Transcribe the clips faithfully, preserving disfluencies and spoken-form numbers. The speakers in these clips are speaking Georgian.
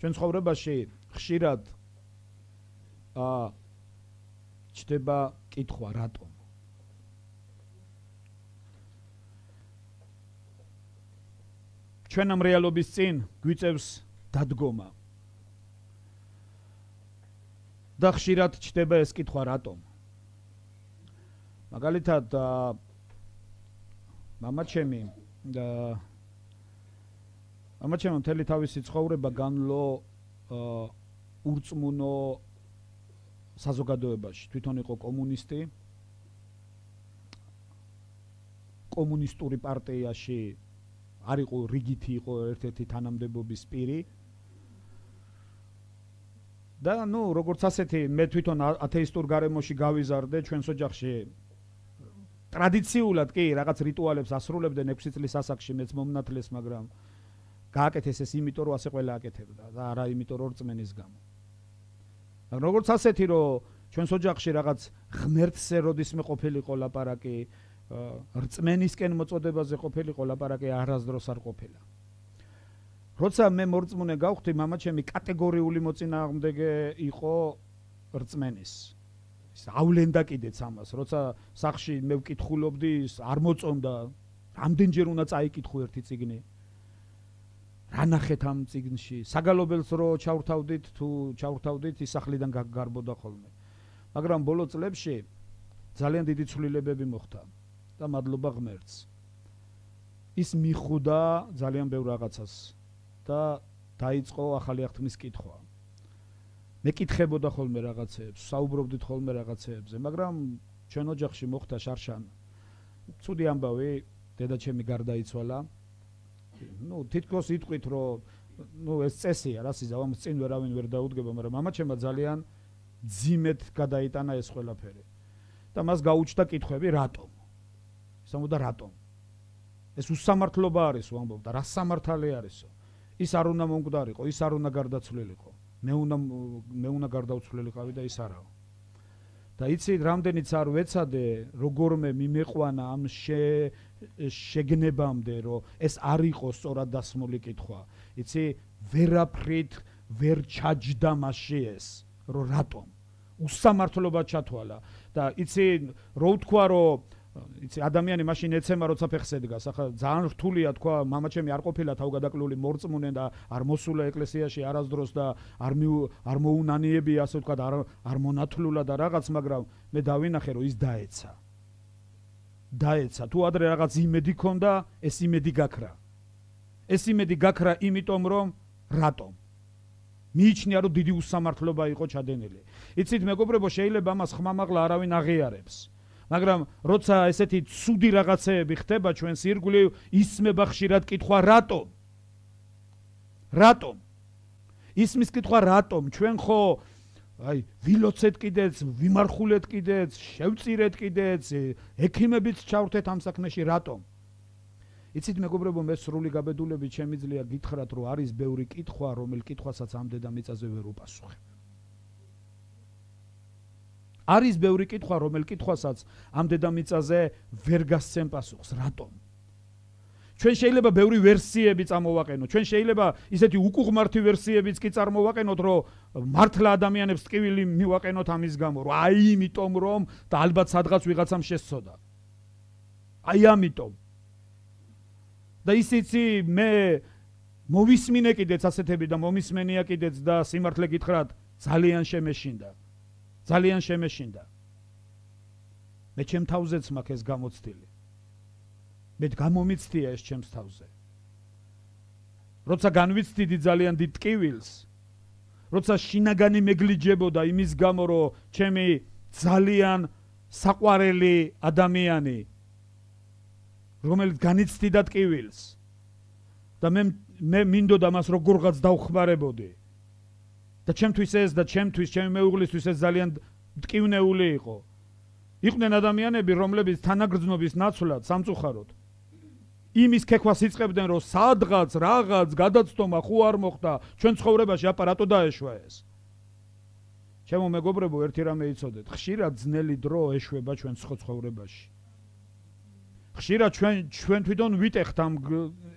ჩვენ ცხოვრებაში ხშირად აა ჩდება კითხვა რატომ ჩვენ ამ რეალობის წინ გვიწევს დადგომა და ხშირად ჩდება ეს კითხვა რატომ მაგალითად მამა ჩემი და მამა ჩემი მთელი თავისი ცხოვრება განვლო ურწმუნო საზოგადოებაში თვითონ იყო კომუნისტი კომუნისტური პარტიაში არ იყო რიგითი იყო ერთ-ერთი თანამდებობის პირი და ნუ როგორც ასეთი მე თვითონ ათეისტურ გარემოში გავიზარდე ჩვენს ოჯახში ტრადიციულად კი რაღაც რიტუალებს ასრულებდნენ ექვსი წლის ასაკში მეც მომნათლეს მაგრამ გააკეთეს ეს იმიტომ რომ ასე ყველა აკეთებდა და არა იმიტომ რომ რწმენის გამო მაგრამ როგორც ასეთი რომ ჩვენს ოჯახში რაღაც ღმერთზე როდისმე ყოფილიყო ლაპარაკი რწმენისკენ მოწოდებაზე ყოფილიყო ლაპარაკი არასდროს არ ყოფილა როცა მე მორწმუნე გავხდი მამა ჩემი კატეგორიული მოწინააღმდეგე იყო რწმენის ის ავლენდა კიდეც ამას როცა სახში მე ვკითხულობდი არ მოწონდა რამდენჯერ უნდა წაიკითხო ერთი წიგნი რა ნახეთ ამ წიგნში საგალობელს რო ჩავრთავდით თუ ჩავრთავდით ის სახლიდან გარბოდა ხოლმე მაგრამ ბოლო წლებში ძალიან დიდი ცვლილებები მოხდა და მადლობა ღმერთს ის მიხვდა ძალიან ბევრ რაღაცას და დაიწყო ახალი აღთქმის კითხვა მე კითხებოდა ხოლმე რაღაცეებს საუბრობდით ხოლმე რაღაცეებზე მაგრამ ჩვენ ოჯახში მოხდა შარშან ცუდი ამბავი დედაჩემი გარდაიცვალა ну თითქოს იტყვით რომ ну ეს წესია რა სიზავ ამ წინ ვერავინ ვერ დაუდგება მაგრამ მამაჩემმა ძალიან ძიმედ გადაიტანა ეს ყველაფერი და მას გაუჩნდა კითხვები რატომ ის ამბობდა რატომ ეს უსამართლობა არის ვამბობდა რა სამართალი არისო ის არ უნდა მომკვდარიყო ის არ უნდა გარდაცვლილიყო მე უნდა მე უნდა გარდაცვლილიყავი და ის არაო და იცით რამდენიც არ ვეცადე როგორმე მიმეყვანა ამ შეგნებამდე რომ ეს არ იყოს სწორად დასმული კითხვა იცი ვერაფრით ვერ ჩაჯდა მასში ეს რომ რატომ უსამართლობა ჩათვალა და იცი რო ვთქვა რომ იცი ადამიანი მაშინ ეცემა როცა ფეხს ედგას ახლა ძალიან რთულია თქვა მამაჩემი არ ყოფილა თავგადაკლული მორწმუნე და არ მოსულა ეკლესიაში არასდროს და არ არ მოუნანიებია ასე ვთქვა არ არ მონათლულა და რაღაც მაგრამ მე დავინახე რომ ის დაეცა დაეცა თუ ადრე რაღაც იმედი ქონდა ეს იმედი გაქრა ეს იმედი გაქრა იმიტომ რომ რატომ მიიჩნია რომ დიდი უსამართლობა იყო ჩადენილი იცით მეგობრებო შეიძლება ამას ხმამაღლა არავინ აღიარებს მაგრამ როცა ესეთი ცუდი რაღაცეები ხდება ჩვენს ირგვლივ ისმება ხშირად კითხვა რატომ რატომ ისმის კითხვა რატომ ჩვენ ხო აი ვილოცეთ კიდეც ვიმარხულეთ კიდეც შევწირეთ კიდეც ექიმებიც ჩავრთეთ ამ საქმეში რატომ იცით მეგობრებო მე სრული გაბედულებით შემიძლია გითხრათ რომ არის ბევრი კითხვა რომელ კითხვასაც ამ დედამიწაზე ვერ უპასუხებ არის ბევრი კითხვა რომელ კითხვასაც ამ დედამიწაზე ვერ გასცემ პასუხს რატომ ჩვენ შეიძლება ბევრი ვერსიები წამოვაყენოთ ჩვენ შეიძლება ისეთი უკუღმართი ვერსიებიც კი წარმოვაყენოთ რომ მართლა ადამიანებს ტკივილი მივაყენოთ ამის გამო რომ აი იმიტომ რომ და ალბათ სადღაც ვიღაცამ შესწოდა აი ამიტომ და ისიცი მე მოვისმინე კიდეც ასეთები და მომისმენია კიდეც და სიმართლე გითხრათ ძალიან შემეშინდა ძალიან შემეშინდა მე ჩემ თავზეც მაქვს ეს გამოცდილი მე გამომიცდია ეს ჩემს თავზე როცა განვიცდიდი ძალიან დიდ ტკივილს როცა შინაგანი მეგლიჯებოდა იმის გამო რომ ჩემი ძალიან საყვარელი ადამიანი რომელიც განიცდიდა ტკივილს და მე მე მინდოდა მას როგორღაც დავხმარებოდი და ჩემთვის ეს და ჩემთვის ჩემი მეუღლისთვის ეს ძალიან ტკივნეული იყო იყვნენ ადამიანები რომლებიც თანაგრძნობის ნაცვლად სამწუხაროდ იმის ქექვას იწყებდნენ რომ სადღაც რაღაც გადაცდომა ხო არ მოხდა ჩვენ ცხოვრებაში აპარატო დაეშვა ეს ჩემო მეგობრებო ერთი რამე იცოდეთ ხშირად ძნელი დრო ეშვება ჩვენ ცხოვრებაში ხშირად ჩვენ ჩვენ თვითონ ვიტეხთ ამ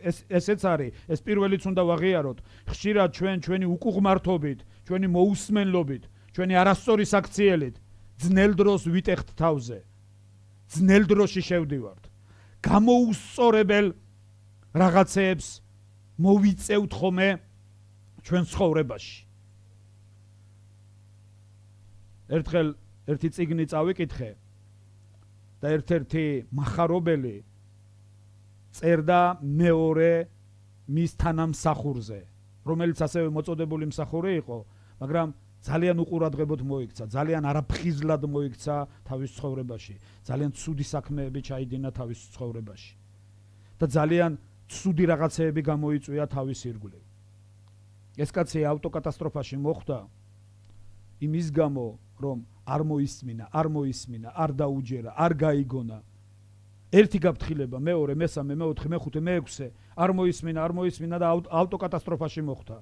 ეს ესეც არის, ეს პირველიც უნდა ვაღიაროთ. ხშირად ჩვენ ჩვენი უკუღმართობით, ჩვენი მოусმენლობით, ჩვენი არასწორი საქციელით ძნელ დროს ვიტეხთ თავზე. ძნელ დროში შევდივართ. გამოუსწორებელ რაღაცეებს მოვიწევთ ხოლმე ჩვენ ცხოვრებაში. ერთხელ ერთი წიგნი წავიკითხე და ერთ-ერთი מחარობელი წერდა მეორე მის თანამსახურზე, რომელიც ასევე მოწოდებული მსახური იყო, მაგრამ ძალიან უყურადღებოდ მოიქცა, ძალიან არაფხიზლად მოიქცა თავის ცხოვრებაში, ძალიან ცუდი საქმეები ჩაიდინა თავის ცხოვრებაში და ძალიან ცუდი რაღაცეები გამოიწვია თავის ირგვლივ. ეს კაცი ავტოკატასტროფაში მოხვდა იმის გამო, რომ არ მოისმინა, არ მოისმინა, არ დაუჯერა, არ გაიგონა. ერთი გაფრთხილება, მეორე, მესამე, მეოთხე, მეხუთე, მეექვსე, არ მოისმინა, არ მოისმინა და ავტოკატასტროფაში მოხვდა.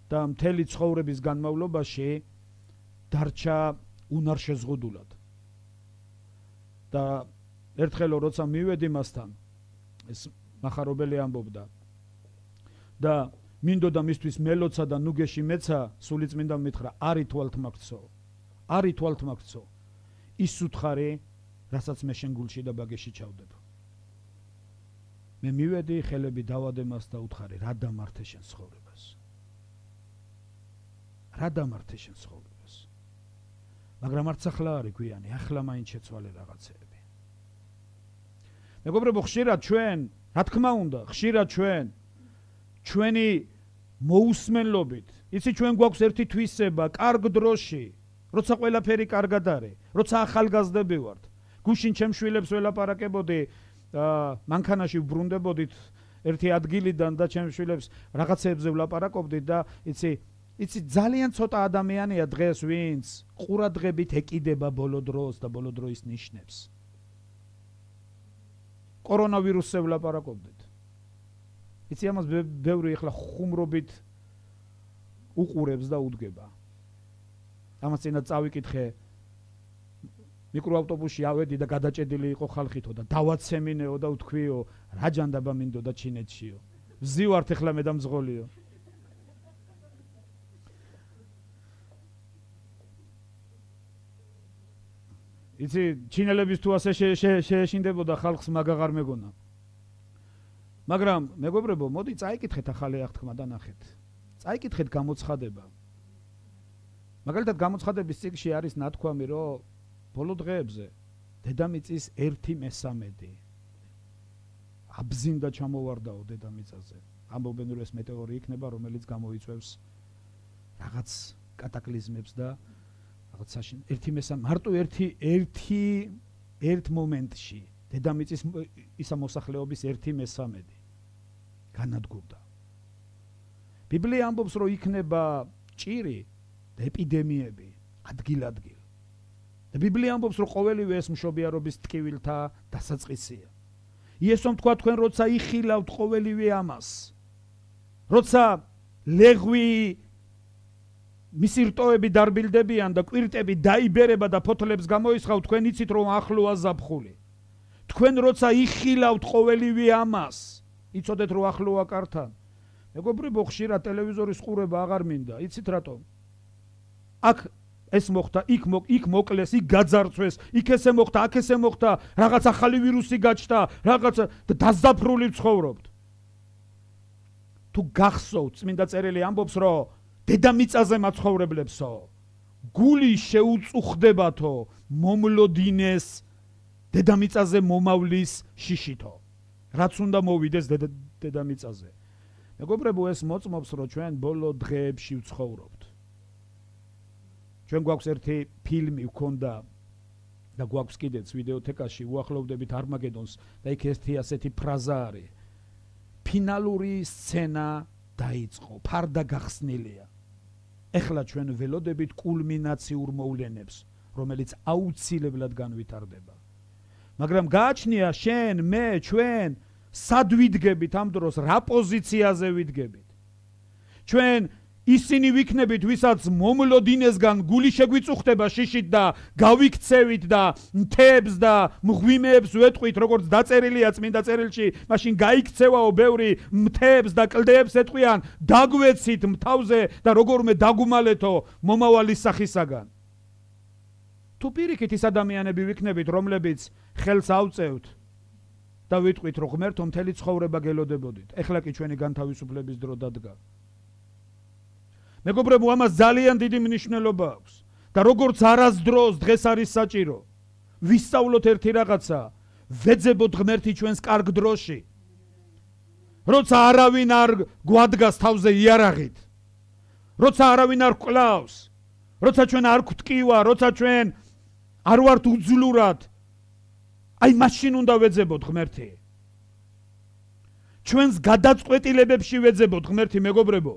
და მთელი ცხოვრების განმავლობაში დარჩა უნარშეზღუდულად. და ერთხელ როცა მივედი მასთან, ეს מחარობელი ამბობდა და მინდოდა მისთვის მელოცა და ნუგეში მეცა, სულიწმინდა მითხრა, არ ითვალთ მაგცო, არ ითვალთ მაგცო, ის უთხარი, რასაც მე შენ გულში და ბაგეში ჩავდებ. მე მივედი, ხელები დავადე მას და უთხარი, რა დამართე შენ ცხოვრებას? რა დამართე შენ ცხოვრებას? მაგრამ არც ახლა არის გვიანი, ახლა მაინც შეცვალე რაღაცეები. მეგობრებო, ხშირად ჩვენ, რა თქმა უნდა, ხშირად ჩვენ ჩვენი მოусმენლობით, იცი ჩვენ გვაქვს ერთი თვისება, კარგ დროში, როცა ყველაფერი კარგად არის, როცა ახალგაზრდები ვართ, გუშინ ჩემ შვილებს ველაპარაკებოდი, მანქანაში ვბრუნდებოდით ერთი ადგილიდან და ჩემ შვილებს რაღაცეებზე ვლაპარაკობდით და იცი იცი ძალიან ცოტა ადამიანია დღეს, ვინც ყურადღებით ეკიდება ბოლო დროს და ბოლო დროის ნიშნებს. კორონავირუსზე ვლაპარაკობდით. იცი ამას ბევრი ახლა ხუმრობით უყურებს და უდგება. ამას წინა წავიკითხე, მიკროავტობუსში ავედი და გადაჭედილი იყო ხალხითო და დავაცემინეო და ვთქვიო, რა ჯანდაბა მინდოდა ჩინეთშიო. ვზივართ ახლა მე და მძღოლიო. იცი, ჩინელების თუ ასე შეეშინდებოდა ხალხს მაგაღარ მეგონა. მაგრამ მეგობრებო, მოდი წაიკითხეთ ახალი აღთქმა და ნახეთ. წაიკითხეთ გამოცხადება. მაგალითად გამოცხადების წიგნში არის ნათქვამი, რომ ბოლო დღეებზე დედამიწის ერთი მესამედი აბზინდა ჩამოვარდაო დედამიწაზე. ამბობენ, რომ ეს მეტეორი იქნება, რომელიც გამოიწვევს რაღაც კატაკლიზმებს და რაღაცაში ერთი მესამედი, მარტო ერთი ერთი ერთ მომენტში დედამიწის ისა მოსახლეობის ერთი მესამედი განადგურდა. ბიბლია ამბობს, რომ იქნება ჭირი და ეპიდემიები ადგილ-ადგილ. და ბიბლია ამბობს, რომ ყოველივე ეს მშობიარობის ტკივილთა დასაწყისია. იესომ თქვა, თქვენ როცა იხილავთ ყოველივე ამას, როცა ლეღვი მისი რტოები დარბილდებიან და კვირტები დაიბერება და ფოთლებს გამოისხავთ, თქვენ იცით, რომ ახლოა ზაფხული. თქვენ როცა იხილავთ ყოველივე ამას, იცოდეთ, რომ ახლოა კართან. მეგობრებო, ხშირად ტელევიზორის ყურება აღარ მინდა. იცით რატომ? აქ ეს მოხდა, იქ იქ მოკლეს, იქ გაძარცვეს, იქ ესე მოხდა, აქ ესე მოხდა, რაღაც ახალი ვირუსი გაჩნდა, რაღაც დაზაფრული ცხოვრობთ. თუ გახსოვთ, წმინდა წერილი ამბობს, რომ დედამიწაზე მაცხოვრებლებსო, გული შეუწუხდებათო მომლოდინეს დედამიწაზე მომავლის შიშითო. რაც უნდა მოვიდეს დედამიწაზე. მეგობრებო, ეს მოწმობს, რომ ჩვენ ბოლო დღეებში ვცხოვრობთ. ჩვენ გვაქვს ერთი ფილმი ვქონდა და გვაქვს კიდეც ვიდეოთეკაში, უახლოვდებით არმაგედონს და იქ ერთი ასეთი ფრაზა არის. ფინალური სცენა დაიწყო, ფარდა გახსნილია. ეხლა ჩვენ ველოდებით კულმინაციურ მოვლენებს, რომელიც აუცილებლად განვითარდება. მაგრამ გააჩნია შენ, მე, ჩვენ სად ვიდგებით ამ დროს, რა პოზიციაზე ვიდგებით? ჩვენ ისინი ვიქნებით, ვისაც მომლოდინესგან გული შეგვიწუხდება შიშით და გავიქცევით და მთებს და მღვიმეებს ვეტყვით, როგორც დაწერილია წმინდა წერილში, მაშინ გაიქცევაო ბევრი მთებს და კლდეებს ეტყვიან, დაგვეცით მთავზე და როგორმე დაგუმალეთო მომავალი სახისაგან. თუ პირიქით ის ადამიანები ვიქნებით, რომლებიც ხელს ავწევთ და ვიტყვით, რომ ღმერთო მთელი ცხოვრება გელოდებოდით. ეხლა კი ჩვენი განთავისუფლების დრო დადგა. მეგობრებო, ამას ძალიან დიდი მნიშვნელობა აქვს და როგორც არასდროს დღეს არის საჭირო ვისწავლოთ ერთი რაღაცა, ვეძებოთ ღმერთი ჩვენს კარგ დროში, როცა არავინ არ გვადგას თავზე იარაღით, როცა არავინ არ გვკლავს, როცა ჩვენ არ გვტკივა, როცა ჩვენ არ ვართ უძლურად, აი მაშინ უნდა ვეძებოთ ღმერთი. ჩვენს გადაწყვეტილებებში ვეძებოთ ღმერთი, მეგობრებო.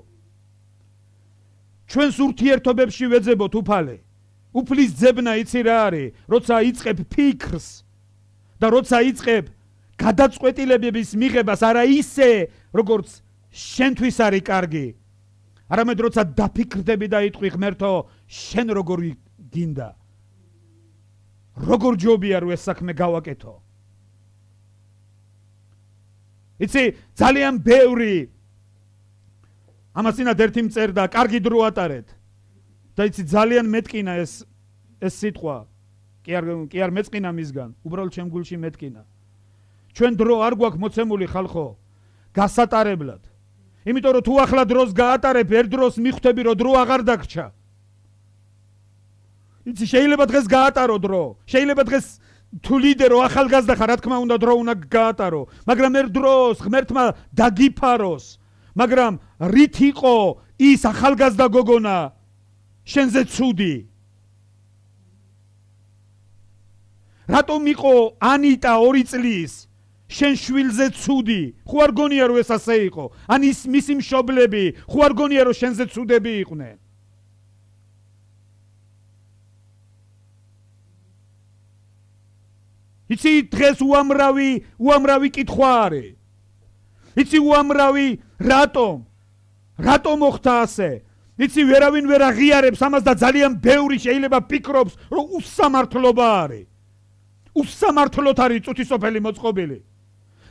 ჩვენს ურთიერთობებში ვეძებოთ უფალე. უფლის ძებნა იცი რა არის, როცა იწყებ ფიქრს და როცა იწყებ გადაწყვეტილებების მიღებას, არა ისე, როგორც შენთვის არის კარგი, არამედ როცა დაფიქრდები და იტყვი ღმერთო, შენ როგორ გინდა, როგორ ჯობია რომ ეს საქმე გავაკეთო. იცი, ძალიან ბევრი ამასინად ერთი მწერდა, კარგი დრო ატარეთ. და იცი, ძალიან მეტკინა ეს ეს სიტყვა. კი არ კი არ მეწყინა მისგან, უბრალოდ ჩემ გულში მეტკინა. ჩვენ დრო არ გვაქვს მოცემული ხალხო გასატარებლად. იმიტომ რომ თუ ახლა დროს გაატარებ, ერთ დროს მიხვდები რომ დრო აღარ დაგრჩა. იცი, შეიძლება დღეს გაატარო დრო, შეიძლება დღეს თუ ლიდერო ახალგაზრდა ხარ, რა თქმა უნდა დრო უნდა გაატარო, მაგრამ ერთ დროს ღმერთმა დაგიფაროს. მაგრამ რით იყო ის ახალგაზრდა გოგონა შენზე ცუდი? რატომ იყო ანიტა ორი წლის შენ შვილზე ცუდი? ხო არ გონია რომ ეს ასე იყო? ან ის მისი მშობლები ხო არ გონია რომ შენზე ცუდები იყვნენ? იცი, დღეს უამრავი უამრავი კითხვა არის. იცი, უამრავი რატომ? რატომ მოხდა ასე? იცი, ვერავინ ვერ აღიარებს ამას და ძალიან ბევრი შეიძლება ფიქრობს, რომ უსამართლობა არის. უსამართლოდ არის წუთისოფელი მოწყობილი.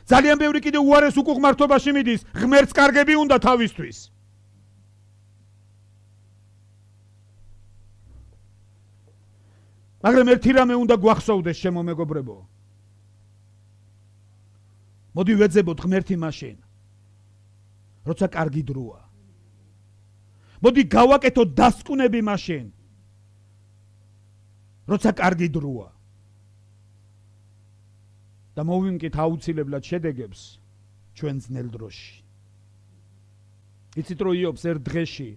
ძალიან ბევრი კიდე უარეს უკუღმართობაში მიდის, ღმერთს კარგები უნდა თავისთვის. მაგრამ ერთი რამე უნდა გვახსოვდეს, ჩემო მეგობრებო. მოდი ვეძებოთ ღმერთი მაშინ, როცა კარგი დროა. მოდი გავაკეთოთ დასკვნები მაშინ, როცა კარგი დროა. და მოვიმკით აუცილებლად შედეგებს ჩვენ ძნელ დროში. იცით რომ იობს ერთ დღეში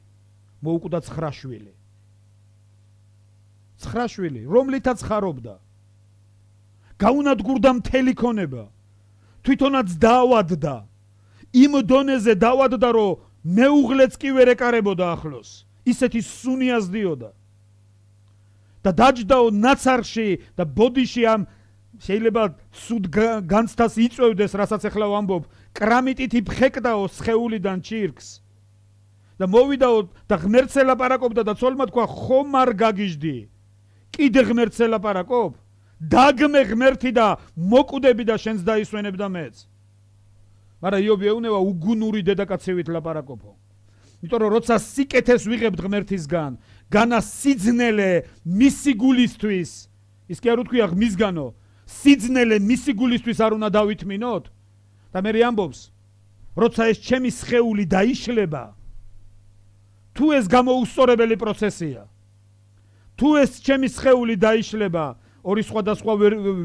მოუკვდა ცხრა შვილი. ცხრა შვილი, რომლითაც ხარობდა. გაუნადგურდა მთელი ქონება. თვითონაც დაავადდა. იმ დონეზე დაავადდა, რომ მეუღლეც კი ვერ ეკარებოდა ახლოს. ისეთი სუნი აზდიოდა. და დაჯდაო ნაცარში და ბოდიში ამ შეიძლება სუდ განცდას იწევდეს, რასაც ახლა ვამბობ, კრამიტით იფხეკდაო სხეულიდან ჩირკს. და მოვიდაო და ღმერთს ელაპარაკობდა და ცოლმა თქვა, ხომ არ გაგიჟდი? კიდე ღმერთს ელაპარაკობ? დაგმე ღმერთი და მოკვდები და შენს დაისვენებ და მეც. მაგრამ იობი ეუნება უგუნური დედაკაცივით ლაპარაკობო. იმიტომ რომ როცა სიკეთეს ვიღებთ ღმერთისგან, განა სიძნელე მისი გულისთვის, ის კი არ უთქვია მისგანო, სიძნელე მისი გულისთვის არ უნდა დავითმინოთ? და მე ამბობს, როცა ეს ჩემი სხეული დაიშლება, თუ ეს გამოუსწორებელი პროცესია, თუ ეს ჩემი სხეული დაიშლება, ორი სხვადასხვა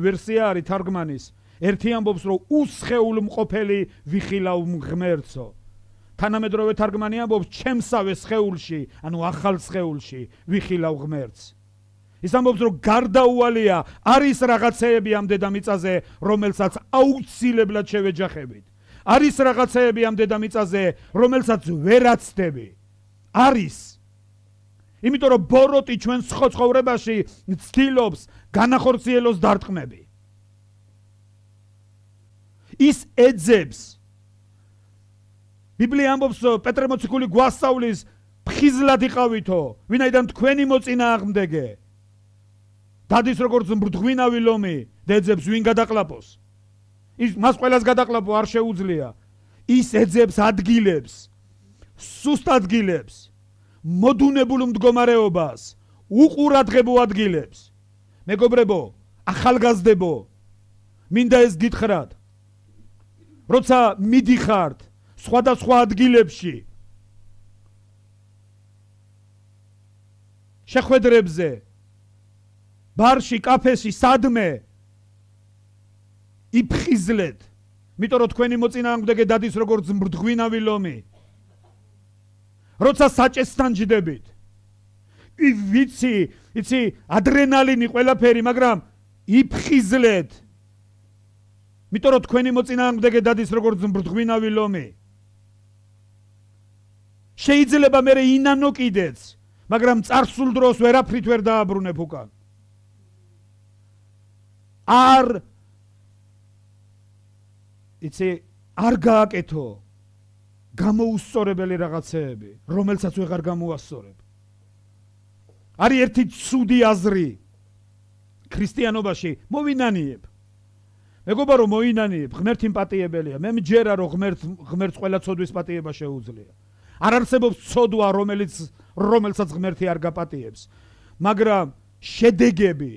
ვერსია არის თარგმანის. ერთი ამბობს, რომ უსხეულ მყოფელი ვიხილავ ღმერთსო. თანამედროვე თარგმანი ამბობს, ჩემსავე სხეულში, ანუ ახალ სხეულში ვიხილავ ღმერთს. ის ამბობს, რომ გარდაუვალია არის რაღაცეები ამ დედამიწაზე, რომელსაც აუცილებლად შევეჯახებით. არის რაღაცეები ამ დედამიწაზე, რომელსაც ვერ აცდები. არის. იმიტომ რომ ბოროტი ჩვენ ცხოვრებაში ცდილობს განახორციელოს დარტყმები. ის ეძებს. ბიბლია ამბობს, პეტრე მოციქული გვასწავლის, ფხიზლად იყავითო, ვინაიდან თქვენი მოწინააღმდეგე. დადის როგორც მბრდღვინავი ლომი, დეძებს ვინ გადაყლაპოს. ის მას ყველას გადაყლაპო არ შეუძლია. ის ეძებს ადგილებს, სუსტ ადგილებს, მოდუნებულ მდგომარეობას, უყურადღებო ადგილებს. მეგობრებო, ახალგაზრდებო, მინდა ეს გითხრათ. როცა მიდიხართ სხვადასხვა ადგილებში, შეხვედრებზე, ბარში, კაფეში, სადმე იფხიზლეთ, იმიტომ რომ თქვენი მოწინააღმდეგე დადის როგორც მბრდღვინავი ლომი. როცა საჭესთან ჯდებით, ვიცი, იცი, ადრენალინი ყველაფერი, მაგრამ იფხიზლეთ, იმიტომ რომ თქვენი მოწინააღმდეგე დადის როგორც მბრდღვინავი ლომი. შეიძლება მე ინანო კიდეც, მაგრამ წარსულ დროს ვერაფრით ვერ დააბრუნებ უკან. არ იცი, არ გააკეთო გამოუსწორებელი რაღაცეები, რომელსაც ვეღარ გამოასწორებ. არის ერთი ცუდი აზრი ქრისტიანობაში, მოვინანიებ. მეგობარო, მოინანიებ, ღმერთი მპატიებელია. მე მჯერა რომ ღმერთ ღმერთს ყველა ცოდვის პატიება შეუძლია. არ არსებობს ცოდვა, რომელიც რომელსაც ღმერთი არ გაპატიებს. მაგრამ შედეგები,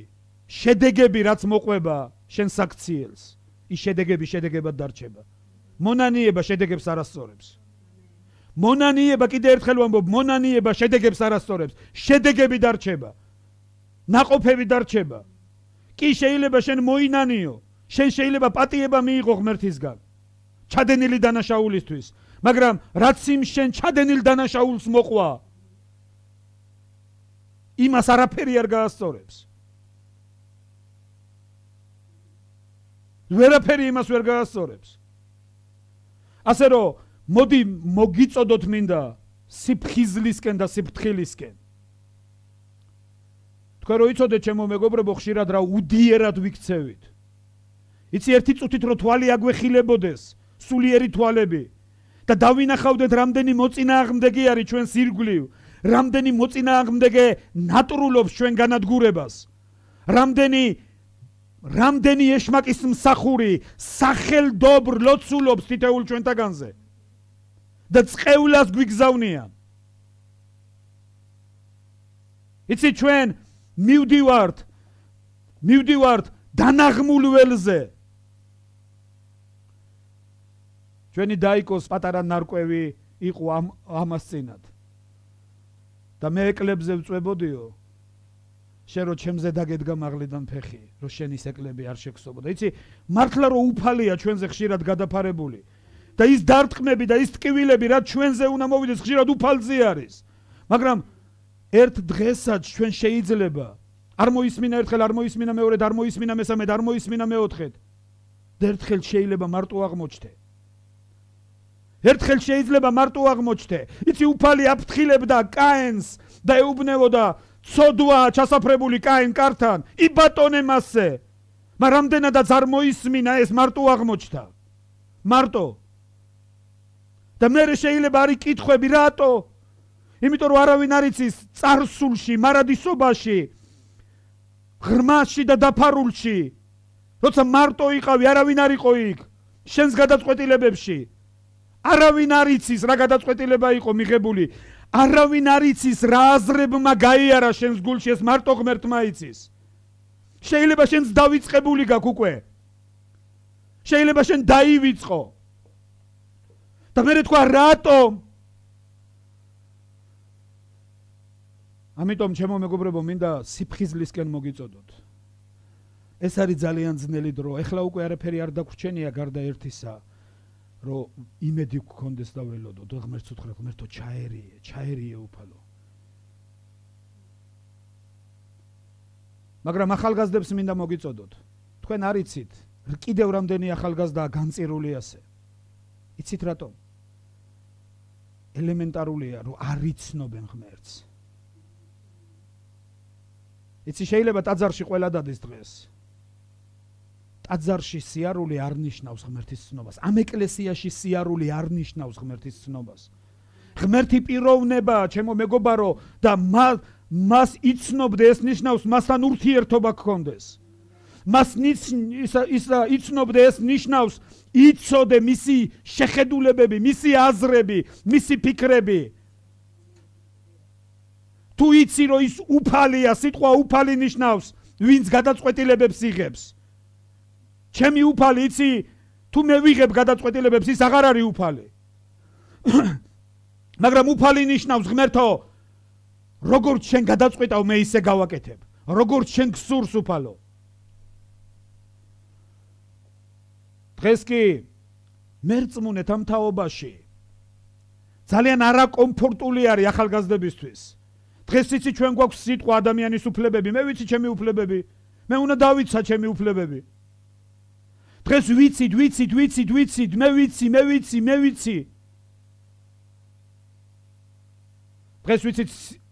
შედეგები რაც მოყვება შენ საქციელს, ის შედეგები შედეგებად დარჩება. მონანიება შედეგებს არ ასწორებს. მონანიება, კიდე ერთხელ ვამბობ, მონანიება შედეგებს არ ასწორებს. შედეგები დარჩება. ნაყოფები დარჩება. კი შეიძლება შენ მოინანიო, შენ შეიძლება პატიება მიიღო ღმერთისგან. ჩადენილი დანაშაულისთვის, მაგრამ რაც იმ შენ ჩადენილ დანაშაულს მოყვა, იმას არაფერი არ გაასწორებს. ვერაფერი იმას ვერ გაასწორებს. ასე რომ მოდი მოგიწოდოთ მინდა სიფხიზლისკენ და სიფრთხილისკენ. თქვენ რო იცოდეთ ჩემო მეგობრებო, ხშირად რა უდიერად ვიქცევით. იცი ერთი წუთით რო თვალი აგვეხილებოდეს, სულიერი თვალები და დავინახავდეთ რამდენი მოწინააღმდეგე არის ჩვენს ირგვლივ, რამდენი მოწინააღმდეგე ნატრულობს ჩვენ განადგურებას, რამდენი რამდენი ეშმაკის მსახური სახელდობრ ლოცულობს თითოეულ ჩვენთაგანზე და წყევლას გვიგზავნიან. იცი, ჩვენ მივდივართ მივდივართ დანაღმულ ველზე. ჩვენი დაიკოს პატარა ნარკვევი იყო ამ ამას წინათ და მე ეკლებზე ვწვებოდიო, შენ რო ჩემზე დაგედგა მაღლიდან ფეხი, რომ შენ ის ეკლები არ შეგსობოდა. იცი, მართლა რომ უფალია ჩვენზე ხშირად გადაფარებული და ის დარტყმები და ის ტკივილები, რაც ჩვენზე უნდა მოვიდეს, ხშირად უფალზე არის. მაგრამ ერთ დღესაც ჩვენ შეიძლება არ მოისმინა ერთხელ, არ მოისმინა მეორედ, არ მოისმინა მესამედ, არ მოისმინა მეოთხედ და ერთხელ შეიძლება მარტო აღმოჩნდე. ერთხელ შეიძლება მარტო აღმოჩნდე. იცი, უფალი აფრთხილებდა კაენს და ეუბნებოდა, ცოდვა ჩასაფრებული კაენ კართან, იბატონე მასზე. მაგრამ რამდენადაც არ მოისმინა, ეს მარტო აღმოჩნდა. მარტო. და მე შეიძლება არის კითხვები, რატო? იმიტომ რომ არავინ არ იცის წარსულში, მარადისობაში, ღრმაში და დაფარულში, როცა მარტო იყავი, არავინ არ იყო იქ შენს გადაწყვეტილებებში. არავინ არ იცის რა გადაწყვეტილება იყო მიღებული. არავინ არ იცის რა აზრებმა გაიარა შენს გულში, ეს მარტო ღმერთმა იცის. შეიძლება შენს დავიწყებული გაქვს უკვე. შეიძლება შენ დაივიწყო. და მე თქვა რატო? ამიტომ ჩემო მეგობრებო, მინდა სიფხიზლისკენ მოგიწოდოთ. ეს არის ძალიან ძნელი დრო. ეხლა უკვე არაფერი არ დაგვრჩენია გარდა ერთისა, რომ იმედი გქონდეს და ველოდო. და ღმერთს უთხრა, ღმერთო, ჩაერიე, ჩაერიე უფალო. მაგრამ ახალგაზრდებს მინდა მოგიწოდოთ. თქვენ არ იცით, კიდევ რამდენი ახალგაზრდაა განწირული ასე. იცით რატომ? ელემენტარულია, რომ არ იცნობენ ღმერთს. იცი, შეიძლება ტაძარში ყველა დადეს დღეს. ტაძარში სიარული არ ნიშნავს ღმერთის ცნობას. ამ ეკლესიაში სიარული არ ნიშნავს ღმერთის ცნობას. ღმერთი პიროვნებაა, ჩემო მეგობარო და მას იცნობდე, ეს ნიშნავს მასთან ურთიერთობა გქონდეს. მას იცნობდე, ეს ნიშნავს იცოდე მისი შეხედულებები, მისი აზრები, მისი ფიქრები. თუ იცი რომ ის უფალია, სიტყვა უფალი ნიშნავს ვინც გადაწყვეტილებებს იღებს. ჩემი უფალი იცი, თუ მე ვიღებ გადაწყვეტილებებს, ის აღარ არის უფალი. მაგრამ უფალი ნიშნავს ღმერთო, როგორც შენ გადაწყვეტავ, მე ისე გავაკეთებ. როგორც შენ გსურს უფალო. დღეს კი მერწმუნეთ ამ თაობაში ძალიან არაკომფორტული არის ახალგაზრდებისთვის. დღეს იცი ჩვენ გვაქვს სიტყვა ადამიანის უფლებები, მე ვიცი ჩემი უფლებები, მე უნდა დავიცა ჩემი უფლებები. დღეს ვიცით, ვიცით, ვიცით, ვიცით, მე ვიცი, მე ვიცი, მე ვიცი. დღეს ვიცით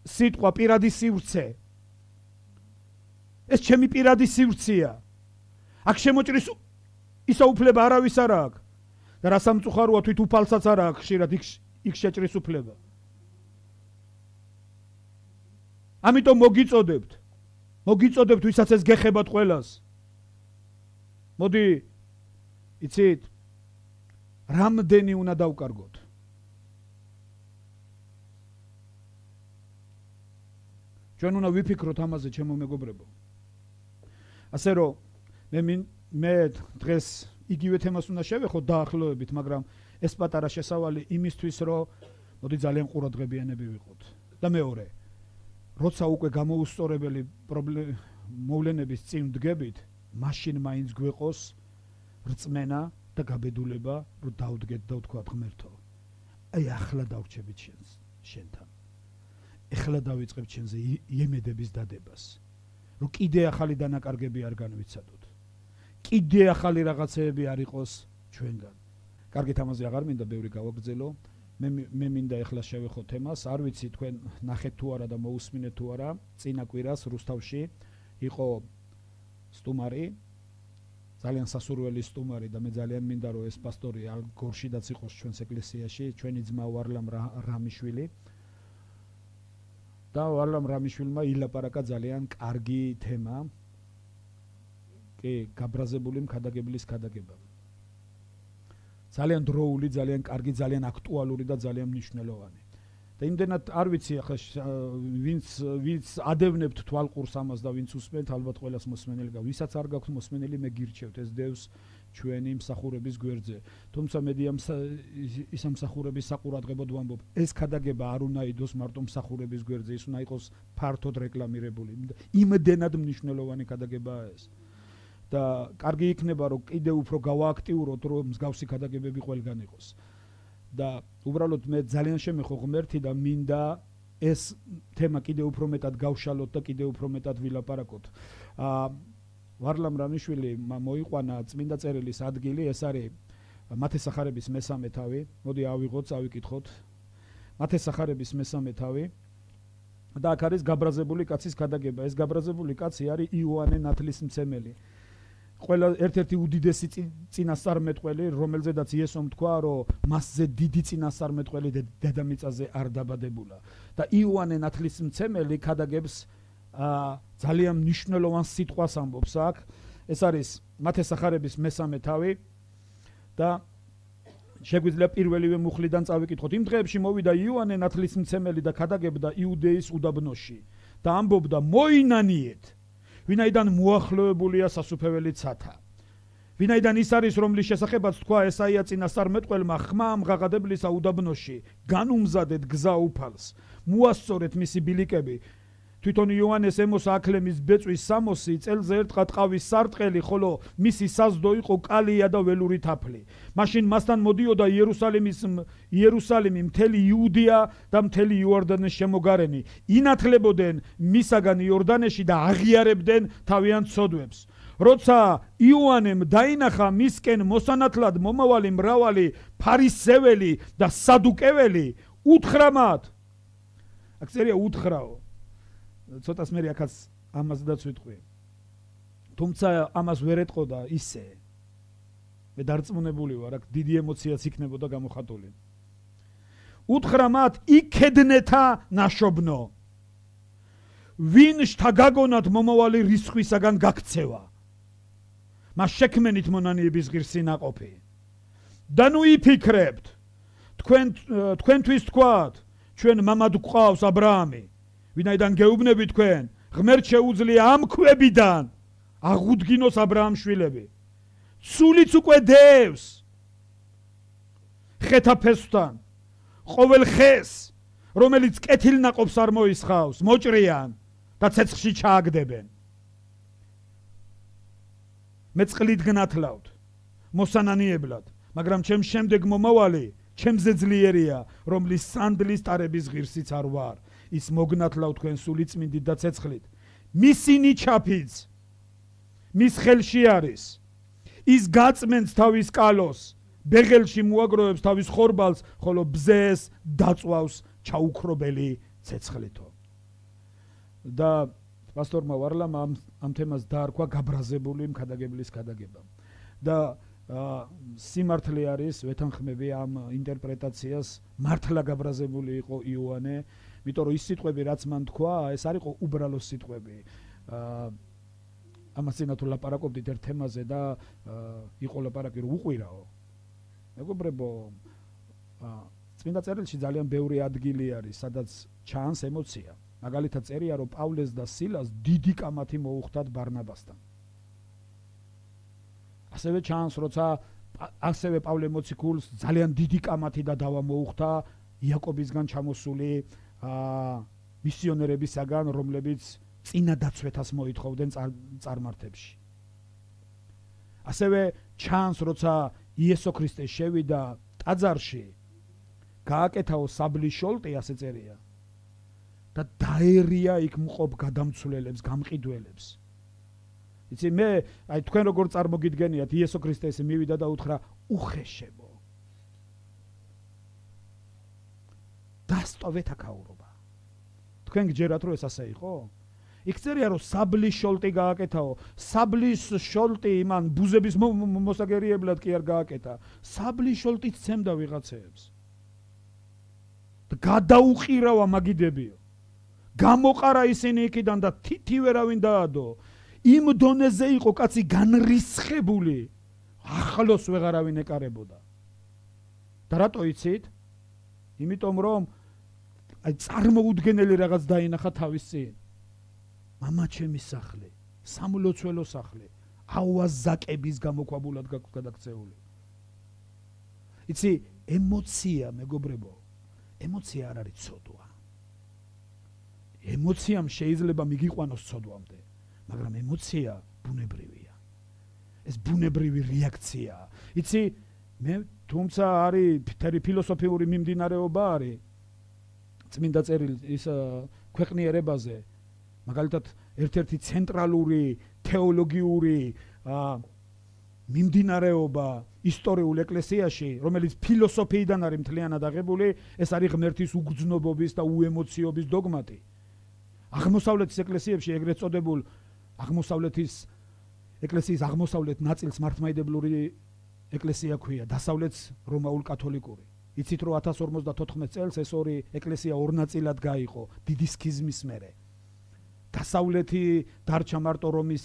სიტყვა პირადი სივრცე. ეს ჩემი პირადი სივრცეა. აქ შემოჭრის ისა უფლება არავის არ აქვს. და რა სამწუხაროა, თვით უფალსაც არ აქვს ხშირად იქ შეჭრის უფლება. ამიტომ მოგიწოდებთ. მოგიწოდებთ, ვისაც ეს გეხებათ ყველას. მოდი, იცით, რამდენი უნდა დავკარგოთ. ჩვენ უნდა ვიფიქროთ ამაზე, ჩემო მეგობრებო. ასე რომ მე მე დღეს იგივე თემას უნდა შევეხო დაახლოებით, მაგრამ ეს პატარა შესავალი იმისთვის, რომ მოდი ძალიან ყურადღებიანები ვიყოთ. და მეორე, როცა უკვე გამოუსწორებელი მოვლენების წინ დგებით, მაშინ მაინც გვეყოს რწმენა და გაბედულება, რომ დავდგეთ და ვთქვათ ღმერთო, აი ახლა დავრჩებით შენს შენთან. ეხლა დავიწყებ შენზე იემედების დადებას, რომ კიდე ახალი დანაკარგები არ განვიცადოთ. კიდე ახალი რაღაცეები არ იყოს ჩვენგან. კარგით, ამაზე აღარ მინდა ბევრი გავაგრძელო. მე მე მინდა ეხლა შევეხო თემას, არ ვიცი თქვენ ნახეთ თუ არა და მოусმინეთ თუ არა, წინა კვირას რუსთავში იყო სტუმარი, ძალიან სასურველი სტუმარი და მე ძალიან მინდა რომ ეს პასტორი გორშიდაც იყოს ჩვენს ეკლესიაში, ჩვენი ძმა ვარლამ რამიშვილი. და ვარლამ რამიშვილმა ილაპარაკა ძალიან კარგი თემა. კი, გაბრაზებული მქადაგებლის ქადაგება. ძალიან დროული, ძალიან კარგი, ძალიან აქტუალური და ძალიან მნიშვნელოვანი. და იმდენად არ ვიცი ახლა ვინც ვინც ადევნებთ თვალყურს ამას და ვინც უსმენთ, ალბათ ყველას მოსმენელი გაქვს. ვისაც არ გაქვთ მოსმენელი, მე გირჩევთ, ეს დევს ჩვენი მსახურების გვერდზე. თუმცა მედია ის მსახურების საყურადღებოდ ვამბობ, ეს ქადაგება არ უნდა იყოს მარტო მსახურების გვერდზე, ის უნდა იყოს ფართოდ რეკლამირებული. იმდენად მნიშვნელოვანი ქადაგებაა ეს. და კარგი იქნება რომ კიდევ უფრო გავააქტიუროთ, რომ მსგავსი ქადაგებები ყველგან იყოს. და უბრალოდ მე ძალიან შემეხო ღმერთი და მინდა ეს თემა კიდევ უფრო მეტად გავშალოთ და კიდევ უფრო მეტად ვილაპარაკოთ. აა ვარლამ რამიშვილი მოიყვანა წმინდა წერილის ადგილი, ეს არის მათესახარების მესამე თავი. მოდი ავიღოთ, წავიკითხოთ. მათესახარების მესამე თავი. და აქ არის გაბრაზებული კაცის ქადაგება. ეს გაბრაზებული კაცი არის იოანე ნათლისმცემელი. ყველა ერთ-ერთი უდიდესი წინასწარმეტყველი, რომელზედაც იესომ თქვა, რომ მასზე დიდი წინასწარმეტყველი დედამიწაზე არ დაბადებულა. და იოანე ნათლისმცემელი ქადაგებს ძალიან მნიშვნელოვან სიტყვას ამბობს აქ. ეს არის მათესახარების მესამე თავი და შეგვიძლია პირველივე მუხლიდან წავიკითხოთ. იმ დღეებში მოვიდა იოანე ნათლისმცემელი და ქადაგებდა იუდეის უდაბნოში და ამბობდა, მოინანიეთ, ვინაიდან მოახლოებულია სასუფეველი ცათა. ვინაიდან ის არის, რომლის შესახებაც თქვა ესაია წინასწარმეტყველმა, ხმა ამღაღადებლისა უდაბნოში, განუმზადეთ გზა უფალს, მოასწორეთ მისი ბილიკები. თვითონ იოანეს ემოს აკლემის ბეწვის სამოსი, წელზე ერთხა ტყავის სარტყელი, ხოლო მისი საზდო იყო კალია და ველური თაფლი. მაშინ მასთან მოდიოდა იერუსალიმის იერუსალიმი, მთელი იუდეა და მთელი იორდანეს შემოგარენი. ინათლებოდნენ მისაგან იორდანეში და აღიარებდნენ თავიანთ ცოდვებს. როცა იოანემ დაინახა მისკენ მოსანათლად მომავალი მრავალი ფარისეველი და სადუკეველი, უთხრა მათ. აქ წერია უთხრაო. ცოტას მე აქაც ამაზდაც ვიტყვი. თუმცა ამას ვერ ეტყოდა ისე. მე დარწმუნებული ვარ, აქ დიდი ემოციაც იქნებოდა გამოხატული. უთხრა მათ იქედნეთა ნაშობნო ვინ შთაგაგონათ მომავალი რისხვისაგან გაქცევა მას შექმენით მონანიების ღირსი ნაყოფი და ნუ იფიქრებთ თქვენ თქვენთვის თქვათ ჩვენ მამად გვყავს ა ブラ ამი ვინაიდან გეუბნები თქვენ ღმერთ შეუძლია ამ ქვებიდან აღუდგინოს ა ブラ ამს შვილები ცულიც უკვე დევს ხეთა ფესვთან ყოველ ხეს რომელიც კეთილნაყოფს არ მოისხავს მოჭრიან და ცეცხლში ჩააგდებენ მე წყლით გნათლავთ მოსანანიებლად მაგრამ ჩემ შემდეგ მომავალი ჩემზე ძლიერია რომლის სანდლის ტარების ღირსიც არ ვარ ის მოგნათლავ თქვენ სულიწმინდით და ცეცხლით მისინი ჩაფიც მის ხელში არის ის გაწმენს თავის კალოს ბეღელში მოაგროვებს თავის ხორბალს ხოლო ბზეს დაწვავს ჩაუქრობელი ცეცხლითო და პასტორმა ვარლამ ამ, ამ თემას დაარქვა გაბრაზებული მქადაგებლის ქადაგება და სიმართლე არის ვეთანხმები ამ ინტერპრეტაციას მართლა გაბრაზებული იყო იოანე იმიტომ რომ ის სიტყვები რაც მან თქვა ეს არ იყო უბრალო სიტყვები ამას წინა თუ ლაპარაკობდით ერთ თემაზე და იყო ლაპარაკი რომ უყვირაო მეგობრებო წმინდა წერილში ძალიან ბევრი ადგილი არის სადაც ჩანს ემოცია მაგალითად წერია რომ პავლეს და სილას დიდი კამათი მოუხდათ ბარნაბასთან ასევე ჩანს როცა ასევე პავლე მოციქულს ძალიან დიდი კამათი და დავა მოუხდა იაკობისგან ჩამოსული მისიონერებისაგან რომლებიც წინა დაცვეთას მოითხოვდნენ წარმართებში ასევე ჩანს როცა იესო ქრისტე შევიდა ტაძარში გააკეთაო საბლის შოლტი ასე წერია და დაერია იქ მყოფ გადამცვლელებს გამყიდველებს იცი მე აი თქვენ როგორ წარმოგიდგენიათ იესო ქრისტე ესე მივიდა და უთხრა უხეშებო დასტოვეთ აქაურობა თქვენ გჯერათ რომ ეს ასე იყო იქ წერია რომ საბლის შოლტი გააკეთაო საბლის შოლტი იმან ბუზების მოსაგერიებლად კი არ გააკეთა საბლის შოლტით ცემდა ვიღაცეებს და გადაუყირავა მაგიდებიო გამოყარა ისინი იქიდან და თითი ვერავინ დაადო იმ დონეზე იყო კაცი განრისხებული ახლოს ვეღარავინ ეკარებოდა და რატო იცით იმიტომ რომ აი წარმოუდგენელი რაღაც დაინახა თავის წინ მამა ჩემი სახლი სამლოცველო სახლი ავაზაკების გამოქვაბულად გადაქცეული იცი ემოცია მეგობრებო ემოცია არ არის ცოდვა ემოციამ შეიძლება მიგიყვანოს ცოდვამდე მაგრამ ემოცია ბუნებრივია ეს ბუნებრივი რეაქციაა იცი მე თუმცა არის ფერი ფილოსოფიური მიმდინარეობა არის წმინდა წერილი ის ქვეყნიერებაზე მაგალითად ერთ-ერთი ცენტრალური თეოლოგიური მიმდინარეობა ისტორიულ ეკლესიაში რომელიც ფილოსოფიიდან არის მთლიანად აღებული ეს არის ღმერთის უგრძნობობის და უემოციობის დოგმატი აღმოსავლეთის ეკლესიებში ეგრეთ წოდებულ აღმოსავლეთის ეკლესიის აღმოსავლეთ ნაწილს მართლმადიდებლური ეკლესია ქვია დასავლეთს რომაულ კათოლიკური იცით რომ ათას ორმოცდათოთხმეტ წელს ეს ორი ეკლესია ორ ნაწილად გაიყო დიდი სქიზმის მერე დასავლეთი დარჩა მარტო რომის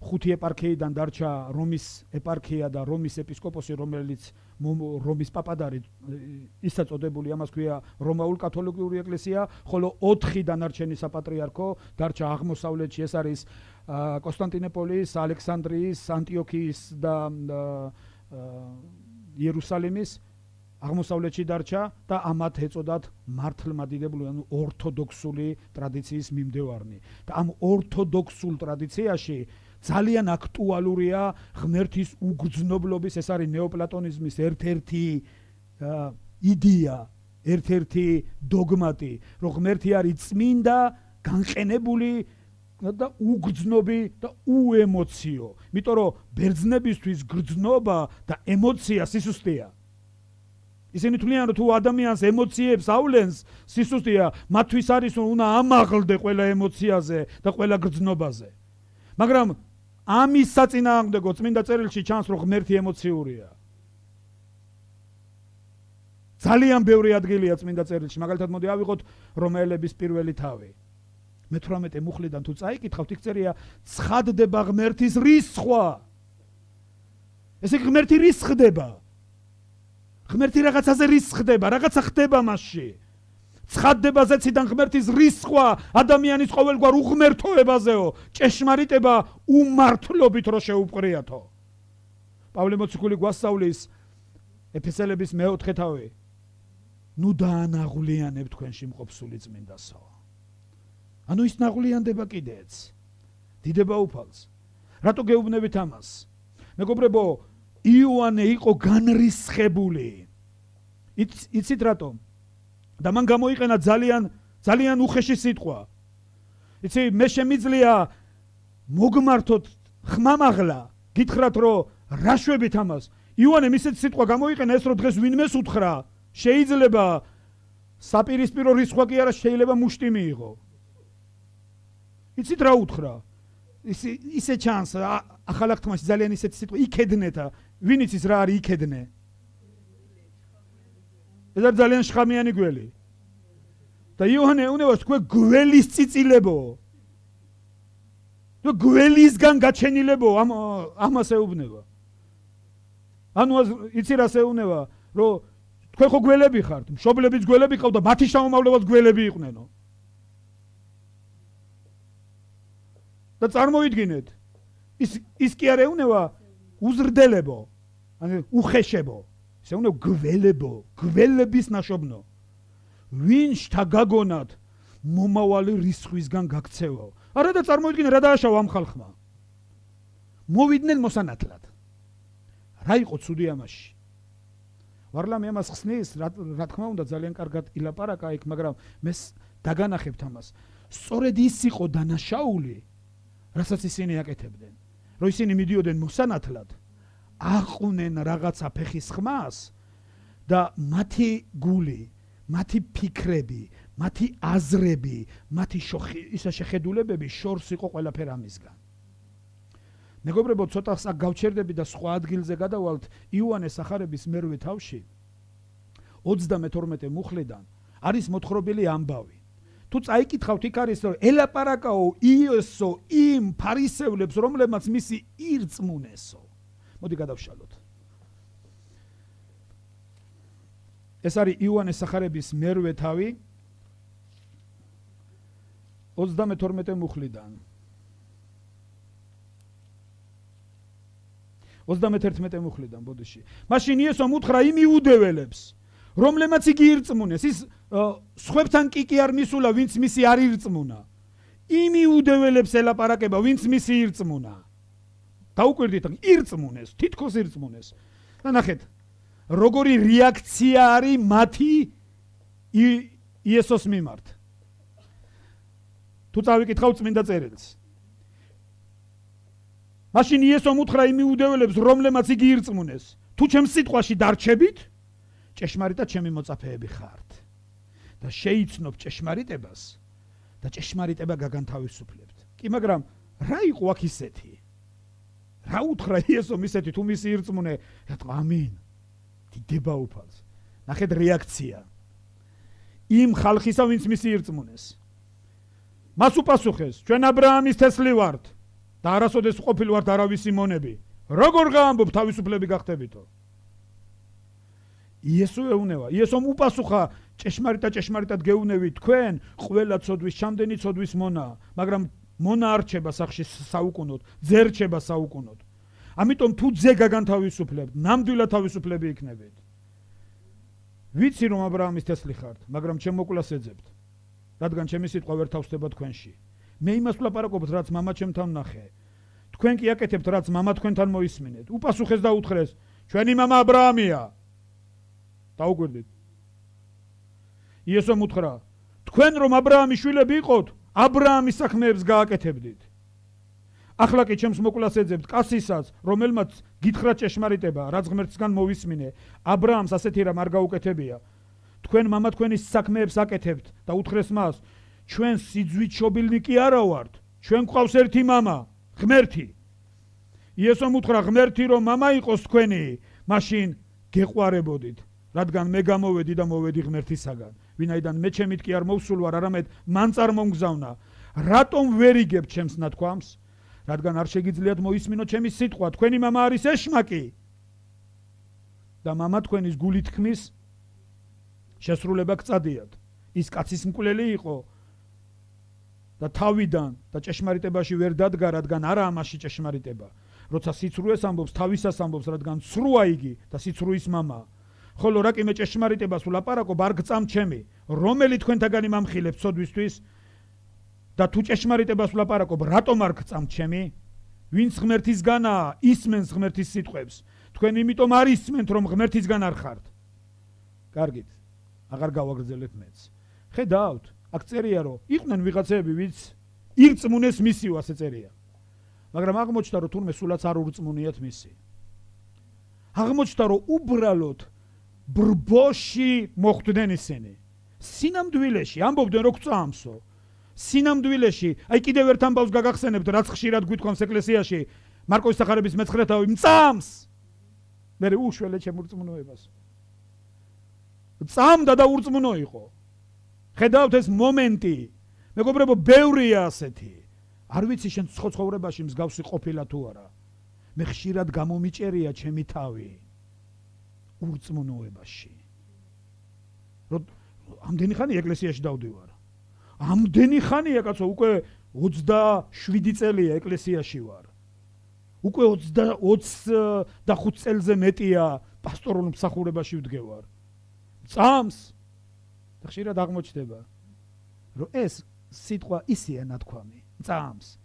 ხუთი ეპარქიიდან დარჩა რომის ეპარქია და რომის ეპისკოპოსი რომელიც რომის პაპად არის ისაც წოდებული ამას ქვია რომაულ კათოლიკური ეკლესია ხოლო ოთხი დანარჩენი საპატრიარქო დარჩა აღმოსავლეთში ეს არის კონსტანტინოპოლის ალექსანდრიის ანტიოქიის და იერუსალიმის აღმოსავლეთში დარჩა და ამათ ეწოდათ მართლმადიდებლური ანუ ორთოდოქსული ტრადიციის მიმდევარნი და ამ ორთოდოქსულ ტრადიციაში ძალიან აქტუალურია ღმერთის უგრძნობლობის ეს არის ნეოპლატონიზმის ერთ-ერთი იდეა ერთ-ერთი დოგმატი რომ ღმერთი არის წმინდა განყენებული და უგრძნობი და უემოციო იმიტომ რომ ბერძნებისთვის გრძნობა და ემოცია სისუსტეა ისინი თვლიან რომ თუ ადამიანს ემოციებს ავლენს სისუსტეა მათთვის არის რომ უნდა ამაღლდე ყველა ემოციაზე და ყველა გრძნობაზე მაგრამ ამის საწინააღმდეგო წმინდა წერილში ჩანს რომ ღმერთი ემოციურია ძალიან ბევრი ადგილია წმინდა წერილში, მაგალითად მოდი ავიღოთ რომაელების პირველი თავი. მეთვრამეტე მუხლიდან თუ წაიკითხავთ, იქ წერია ცხადდება ღმერთის რისხვა. ესე ღმერთი რის ხდება? ღმერთი რაღაცაზე რის ხდება, რაღაცა ხდება მასში. ცხადდება ზეციდან ღმერთის რისხვა ადამიანის ყოველგვარ უღმერთოებაზეო, ჭეშმარიტება უმართლობით რო შეუპყრიათო. პავლე მოციქული გვასწავლის ეფესელების მეოთხე თავი. ნუ დაანაღვლიანებ თქვენში მყოფსული წმინდასო. ანუ ის ნაღვლიანდება კიდეც. დიდება უფალს. რატო გეუბნებით ამას? მეგობრებო, იოანე იყო განრისხებული. იცით რატომ? და მან გამოიყენა ძალიან ძალიან უხეში სიტყვა. იცი, მე შემიძლია მოგმართოთ ხმამაღლა, გითხრათ რომ რა შვებით ამას? იოანე ისეთ სიტყვა გამოიყენა ეს რომ დღეს ვინმეს უთხრა, შეიძლება საპირისპირო რისხვა კი არა, შეიძლება მუშტი მიიღო. იცით რა უთხრა? ისე ისე ჩანს ახალ აღთქმაში ძალიან ისეთი სიტყვა იქედნეთა. ვინ იცის რა არის იქედნე? ეს არის ძალიან შხამიანი გველი. და იოანე ეუბნება თქვენ გველის წიწილებო. თუ გველისგან გაჩენილებო, ამ ამას ეუბნება. ანუ იცი რას ეუბნება, რომ თქვენ ხო გველები ხართ, მშობლებიც გველები ყავდა, მათი შთამომავლობაც გველები იყვნენო. და წარმოიდგინეთ, ის ის კი არ ეუბნება უზრდებო, ანუ უხეშებო. ისე უნდა გველებო, გველების ნაშობნო. ვინ შთაგაგონად მომავალი რისხვისგან გაქცევაო. არა და წარმოიდგინე რა დააშავა ამ ხალხმა. მოვიდნენ მოსანათლად. რა იყო ცუდი ამაში? ვარლამი ამას ხსნის, რა თქმა უნდა ძალიან კარგად ილაპარაკა იქ, მაგრამ მე დაგანახებთ ამას. სწორედ ის იყო დანაშაული, რასაც ისინი აკეთებდნენ. რომ ისინი მიდიოდნენ მოსანათლად, აყვნენ რაღაცა ფეხის ხმას და მათი გული, მათი ფიქრები, მათი აზრები, მათი ისა შეხედულებები შორს იყო ყველაფერ ამისგან. მეგობრებო, ცოტა აქ გავჩერდები და სხვა ადგილზე გადავალთ იოანეს სახარების მერვე თავში ოცდამეთორმეტე მუხლიდან არის მოთხრობილი ამბავი. თუ წაიკითხავთ, იქ არის რომ ელაპარაკაო იესო იმ ფარისევლებს, რომლებმაც მისი ირწმუნესო. მოდი გადავშალოთ. ეს არის იოანეს სახარების მერვე თავი ოცდამეთორმეტე მუხლიდან. ოცდამეთერთმეტე მუხლიდან, ბოდიში. მაშინ იესომ უთხრა იმ იუდეველებს, რომლებმაც იგი ირწმუნეს, ის სხვებთან კი კი არ მისულა, ვინც მისი არ ირწმუნა. იმ იუდეველებს ელაპარაკება, ვინც მისი ირწმუნა. დაუკვირდით, ირწმუნეს, თითქოს ირწმუნეს. და ნახეთ, როგორი რეაქცია არის მათი იესოს მიმართ. თუ წავიკითხავთ წმინდა წერილს. მაშინ იესომ უთხრა იმ იუდეველებს, რომლებმაც იგი ირწმუნეს, თუ ჩემს სიტყვაში დარჩებით, ჭეშმარიტად ჩემი მოწაფეები ხართ. და შეიცნობ ჭეშმარიტებას და ჭეშმარიტება გაგანთავისუფლებთ. კი, მაგრამ რა იყო აქ ისეთი? რა უთხრა იესომ ისეთი, თუ მისი ირწმუნე, რატომ ამინ? დიდება უფალს. ნახეთ რეაქცია. იმ ხალხისა, ვინც მისი ირწმუნეს. მას უპასუხეს, ჩვენ აბრაამის თესლი ვართ და არასოდეს ყოფილი ვართ არავისი მონები. როგორ გაამბობ თავისუფლები გახდებითო? იესო ეუბნება, იესომ უპასუხა, ჭეშმარიტად ჭეშმარიტად გეუბნებით, თქვენ ყველა ცოდვის, ჩამდენი ცოდვის მონაა, მაგრამ მონა არ რჩება სახში საუკუნოდ, ძე რჩება საუკუნოდ. ამიტომ თუ ძე გაგანთავისუფლებთ, ნამდვილად თავისუფლები იქნებით. ვიცი რომ აბრაამის თესლი ხართ, მაგრამ ჩემ მოკვლას ეძებთ, რადგან ჩემი სიტყვა ვერ თავსდება თქვენში. მე იმას ვლაპარაკობთ, რაც მამა ჩემთან ნახე. თქვენ კი აკეთებთ, რაც მამა თქვენთან მოისმინეთ. უპასუხეს და უთხრეს, ჩვენი მამა აბრაამია. დაუკვირდით. იესომ უთხრა, თქვენ რომ აბრაამის შვილები იყოთ, აბრაამის საქმეებს გააკეთებდით. ახლა კი ჩემს მოკვლას ეძებთ კაცისაც, რომელმაც გითხრა ჭეშმარიტება, რაც ღმერთისგან მოვისმინე, აბრაამს ასეთი რამ არ გაუკეთებია. თქვენ მამა თქვენის საქმეებს აკეთებთ და უთხრეს მას, ჩვენ სიძვით შობილნი კი არა ვართ, ჩვენ გვყავს ერთი მამა, ღმერთი. იესომ უთხრა, ღმერთი რომ მამა იყოს თქვენი, მაშინ გეყვარებოდით, რადგან მე გამოვედი და მოვედი ღმერთისაგან. ვინაიდან მე ჩემით კი არ მოვსულ ვარ, არამედ მან წარმომგზავნა. რატომ ვერ იგებთ ჩემს ნათქვამს? რადგან არ შეგიძლიათ მოისმინოთ ჩემი სიტყვა, თქვენი მამა არის ეშმაკი. და მამა თქვენის გულით ქმის შესრულება გწადიათ. ის კაცის მკვლელი იყო და თავიდან და ჭეშმარიტებაში ვერ დადგა, რადგან არაა მასში ჭეშმარიტება. როცა სიცრუეს ამბობს, თავისას ამბობს, რადგან სრუა იგი და სიცრუის მამაა. ხოლო რა კი მე ჭეშმარიტებას ვლაპარაკობ, არ გწამ ჩემი, რომელი თქვენთაგანი მამხილებს ცოდვისთვის და თუ ჭეშმარიტებას ვლაპარაკობ, რატომ არ გწამ ჩემი? ვინც ღმერთისგანაა, ისმენს ღმერთის სიტყვებს. თქვენ იმიტომ არ ისმენთ, რომ ღმერთისგან არ ხართ. კარგით, აღარ გავაგრძელებ მეც. ხედავთ, აქ წერია, რომ იყვნენ ვიღაცები, ვინც ირწმუნეს მისი, ასე წერია. მაგრამ აღმოჩნდა, რომ თურმე სულაც არ ურწმუნიათ მისი. აღმოჩნდა, რომ უბრალოდ ბრბოში მოხვდნენ ისინი. სინამდვილეში ამბობდნენ, რომ გწამსო. სინამდვილეში, აი კიდევ ერთ ამბავს გაგახსენებთ, რაც ხშირად გვითხოვს ეკლესიაში, მარკოს სახარების მეცხრე თავი მწამს. მე უშველე ჩემ ურწმუნოებას. წამდა და ურწმუნო იყო. ხედავთ ეს მომენტი. მეგობრებო, ბევრია ასეთი. არ ვიცი შენ ცხოვრებაში მსგავსი ყოფილა თუ არა. მე ხშირად გამომიჭერია ჩემი თავი ურწმუნოებაში. რომ ამდენი ხანი ეკლესიაში დავდივარ. ამდენი ხანია კაცო, უკვე ოცდაშვიდი წელია ეკლესიაში ვარ. უკვე ოცდახუთ წელზე მეტია პასტორულ მსახურებაში ვდგევარ. წამს და ხშირად აღმოჩნდება, რომ ეს სიტყვა ისეა ნათქვამი. წამს.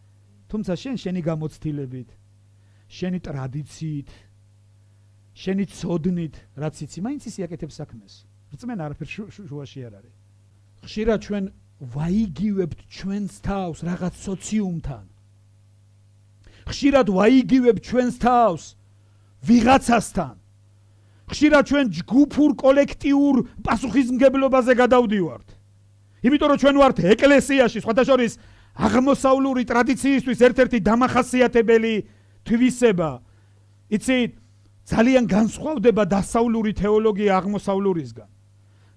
თუმცა შენ შენი გამოცდილებით, შენი ტრადიციით, შენი ცოდნით, რაც იცი, მაინც ის იაკეთებს საქმეს. რწმენა არაფერ შუაში არ არის. ხშირად ჩვენ ვაიგივებთ ჩვენს თავს რაღაც სოციუმთან. ხშირად ვაიგივებთ ჩვენს თავს ვიღაცასთან. ხშირად ჩვენ ჯგუფურ კოლექტიურ პასუხისმგებლობაზე გადავდივართ. იმიტომ რომ ჩვენ ვართ ეკლესიაში, სხვათა შორის აღმოსავლური ტრადიციისთვის ერთ-ერთი დამახასიათებელი თვისება. იცით, ძალიან განსხვავდება დასავლური თეოლოგია აღმოსავლურისგან.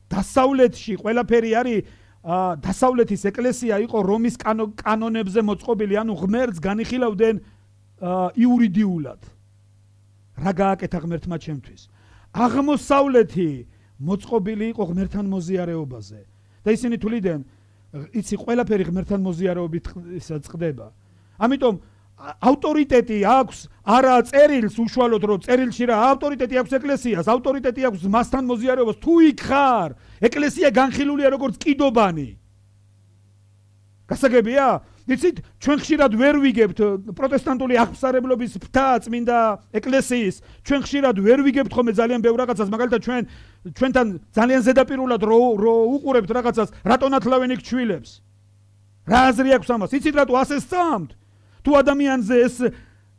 დასავლეთში ყველაფერი არის დასავლეთის ეკლესია იყო რომის კანონებზე მოწყობილი, ანუ ღმერთს განიხილავდნენ იურიდიულად. რა გააკეთა ღმერთმა ჩემთვის? აღმოსავლეთი მოწყობილი იყო ღმერთთან მოზიარეობაზე. და ისინი თვლიდნენ, იცი, ყველაფერი ღმერთთან მოზიარეობით წყდება. ამიტომ ავტორიტეტი აქვს არა წერილს უშუალოდ, რომ წერილში რა ავტორიტეტი აქვს ეკლესიას, ავტორიტეტი აქვს მასთან მოზიარეობას. თუ იქ ხარ, ეკლესია განხილულია როგორც კიდობანი. გასაგებია? იცით, ჩვენ ხშირად ვერ ვიგებთ პროტესტანტული აღმსარებლობის ფთა წმინდა ეკლესიის, ჩვენ ხშირად ვერ ვიგებთ ხოლმე ძალიან ბევრ რაღაცას, მაგალითად ჩვენ ჩვენთან ძალიან ზედაპირულად რო რო უყურებთ რაღაცას, რატომ ათლავენ იქ ჩვილებს? რა აზრი აქვს ამას? იცით რატო ასე სწამთ? თუ ადამიანზე ეს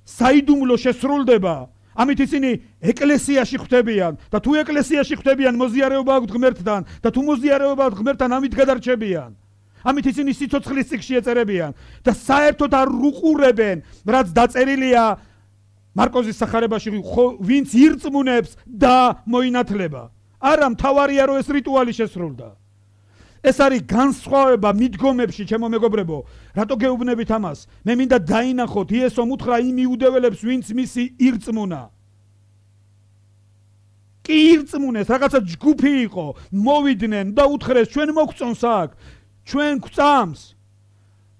საიდუმლო შესრულდება, ამით ისინი ეკლესიაში ხვდებიან და თუ ეკლესიაში ხვდებიან, მოზიარეობა აქვთ ღმერთთან და თუ მოზიარეობა აქვთ ღმერთთან, ამით გადარჩებიან. ამით ისინი სიცოცხლის წიგნში ეწერებიან და საერთოდ არ უყურებენ, რაც დაწერილია მარკოზის სახარებაში, ვინც ირწმუნებს და მოინათლება. არა, მთავარია რომ ეს რიტუალი შესრულდა. ეს არის განსხვავება მიდგომებში, ჩემო მეგობრებო. რატო გეუბნებით ამას? მე მინდა დაინახოთ, იესო უთხრა იმ იუდეველებს, ვინც მისი ირწმუნა. კი ირწმუნეს, რაღაცა ჯგუფი იყო, მოვიდნენ და უთხრეს, ჩვენ მოგწონს აქ, ჩვენ გვწამს.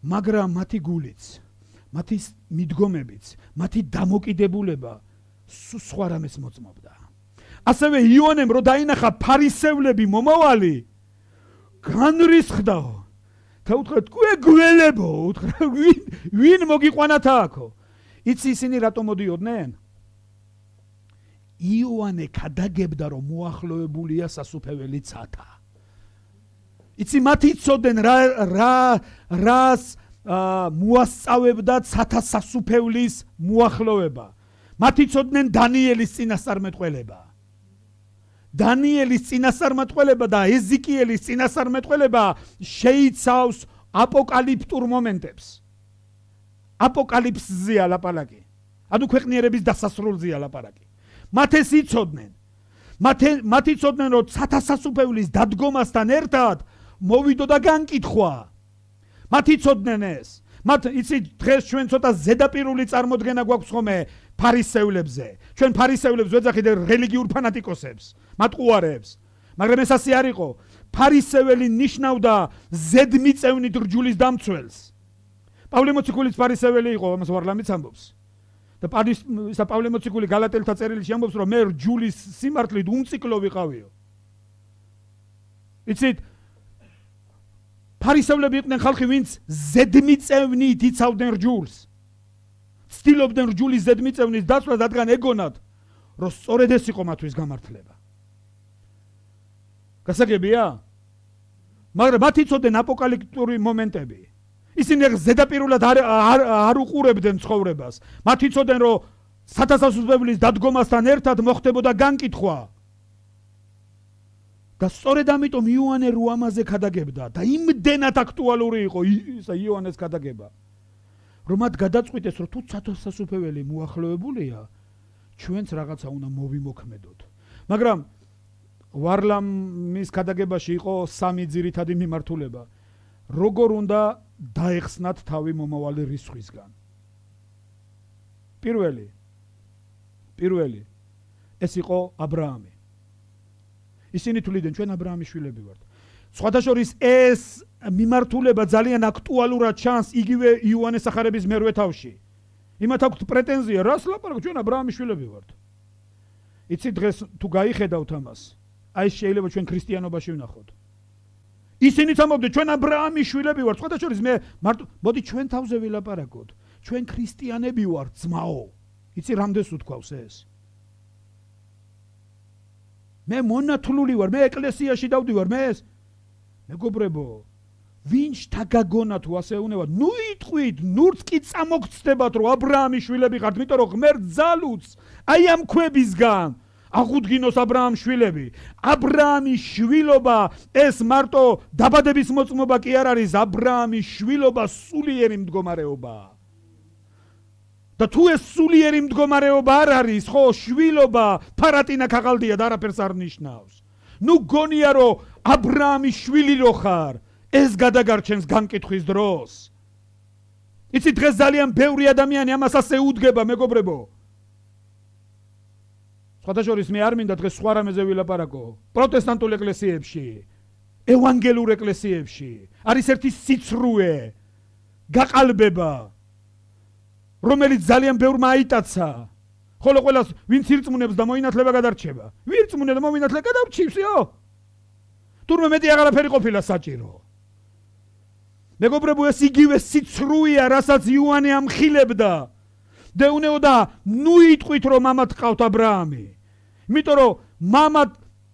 მაგრამ მათი გულიც, მათი მიდგომებიც, მათი დამოკიდებულება სხვა რამეს მოწმობდა. ასევე იონემ რო დაინახა ფარისევლები მომავალი, განრისხდაო და უთხრა, თქვენ გველებო, უთხრა, ვინ ვინ მოგიყვანათ აქო? იცი ისინი რატომ მოდიოდნენ? იოანე გადაგებდა, რომ მოახლოებულია სასუფეველი ცათა. იცი, მათ იცოდნენ რა რა რას მოასწავებდა ცათა სასუფევლის მოახლოება. მათ იცოდნენ დანიელის წინასწარმეტყველება. დანიელის წინასწარმეტყველება და ეზიკიელის წინასწარმეტყველება შეიცავს აპოკალიფტურ მომენტებს. აპოკალიფსზეა ლაპარაკი. ანუ ქვეყნიერების დასასრულზეა ლაპარაკი. მათ ეს იცოდნენ. მათი ცოდნენ რომ სათასასუფეველის დადგომასთან ერთად მოვიდოდა განკითხვა. მათი ცოდნენ ეს. მათ იცი დღეს ჩვენ ცოტა ზედაპირული წარმოდგენა გვაქვს ხოლმე ფარისევლებზე. ჩვენ ფარისევლებს ვეძახით რელიგიურ ფანატიკოსებს, მატყუარებს. მაგრამ ეს ასე არ იყო. ფარისეველი ნიშნავდა ზედმიწევნით რჯულის დამცველს. პავლე მოციქულის ფარისეველი იყო, ამას ვარლამიც ამბობს. და ისა პავლე მოციქული გალატელთა წერილში ამბობს, რომ მე რჯულის სიმართლით უმციკლო ვიყავიო. იცით, ფარისევლები იყვნენ ხალხი, ვინც ზედმიწევნით იცავდნენ რჯულს. ცდილობდნენ რჯულის ზედმიწევნის დაცვას, რადგან ეგონათ, რომ სწორედ ეს იყო მათთვის გამართლება. გასაგებია? მაგრამ მათ იცოდნენ აპოკალიფტური მომენტები. ისინი ზედაპირულად არ არ უყურებდნენ ცხოვრებას. მათ იცოდნენ, რომ სათასასუფეველის დადგომასთან ერთად მოხდებოდა განკითხვა. და სწორედ ამიტომ იოანე რო ამაზე ქადაგებდა და იმდენად აქტუალური იყო ისა იოანეს ქადაგება, რომ მათ გადაწყვიტეს, რომ თუ სათასასუფეველი მოახლოებულია, ჩვენც რაღაცა უნდა მოვიმოქმედოთ. მაგრამ ვარლამის ქადაგებაში იყო სამი ძირითადი მიმართულება. როგორ უნდა დაეხსნათ თავი მომავალი რისხვისგან. პირველი პირველი ეს იყო აბრაამი. ისინი თვლიდნენ, ჩვენ აბრაამის შვილები ვართ. სხვათა შორის ეს მიმართულება ძალიან აქტუალურად ჩანს იგივე იოანეს სახარების მერვე თავში. იმათ აქვთ პრეტენზია, რას ლაპარაკობთ, ჩვენ აბრაამის შვილები ვართ. იცი დღეს თუ გაიხედავთ ამას, აი შეიძლება ჩვენ ქრისტიანობაში ვნახოთ. ისინიც ამბობდნენ, ჩვენ აბრაამის შვილები ვართ. სხვათა შორის მე მარტო მოდი ჩვენ თავზე ვილაპარაკოთ. ჩვენ ქრისტიანები ვართ, ძმაო. იცი რამდენს უთქვავს ეს? მე მონათლული ვარ, მე ეკლესიაში დავდივარ, მე ეს მეგობრებო, ვინც თაგაგონა თუ ასე უნებათ, ნუ იტყვით, ნურც კი წამოგწდებათ, რომ აბრაამის შვილები ხართ, იმიტომ რომ ღმერთ ძალუც აი ამ ქვებისგან აღუდგინოს აბრაამის შვილები. აბრაამის შვილობა ეს მარტო დაბადების მოწმობა კი არ არის, აბრაამის შვილობა სულიერი მდგომარეობაა. და თუ ეს სულიერი მდგომარეობა არ არის, ხო, შვილობა ფარატინა ქაღალდია და არაფერს არ ნიშნავს. ნუ გონია რომ აბრაამის შვილი რო ხარ, ეს გადაგარჩენს განკითხვის დროს. იცი დღეს ძალიან ბევრი ადამიანი ამას ასე უდგება, მეგობრებო. სხვათა შორის მე არ მინდა დღეს სხვა რამეზე ვილაპარაკო. პროტესტანტულ ეკლესიებში, ევანგელურ ეკლესიებში არის ერთი სიცრუე, გაყალბება, რომელიც ძალიან ბევრმა აიტაცა. ხოლო ყველას ვინც ირწმუნებს და მოინათლება გადარჩება. ვირწმუნე და მოინათლე გადარჩივსიო. თურმე მეტი აღარაფერი ყოფილა საჭირო. მეგობრებო, ეს იგივე სიცრუეა, რასაც იოანე ამხილებდა. დეუნეოდა, ნუ იტყვით რომ მამად ყავთ აბრაამი. იმიტომ რომ მამად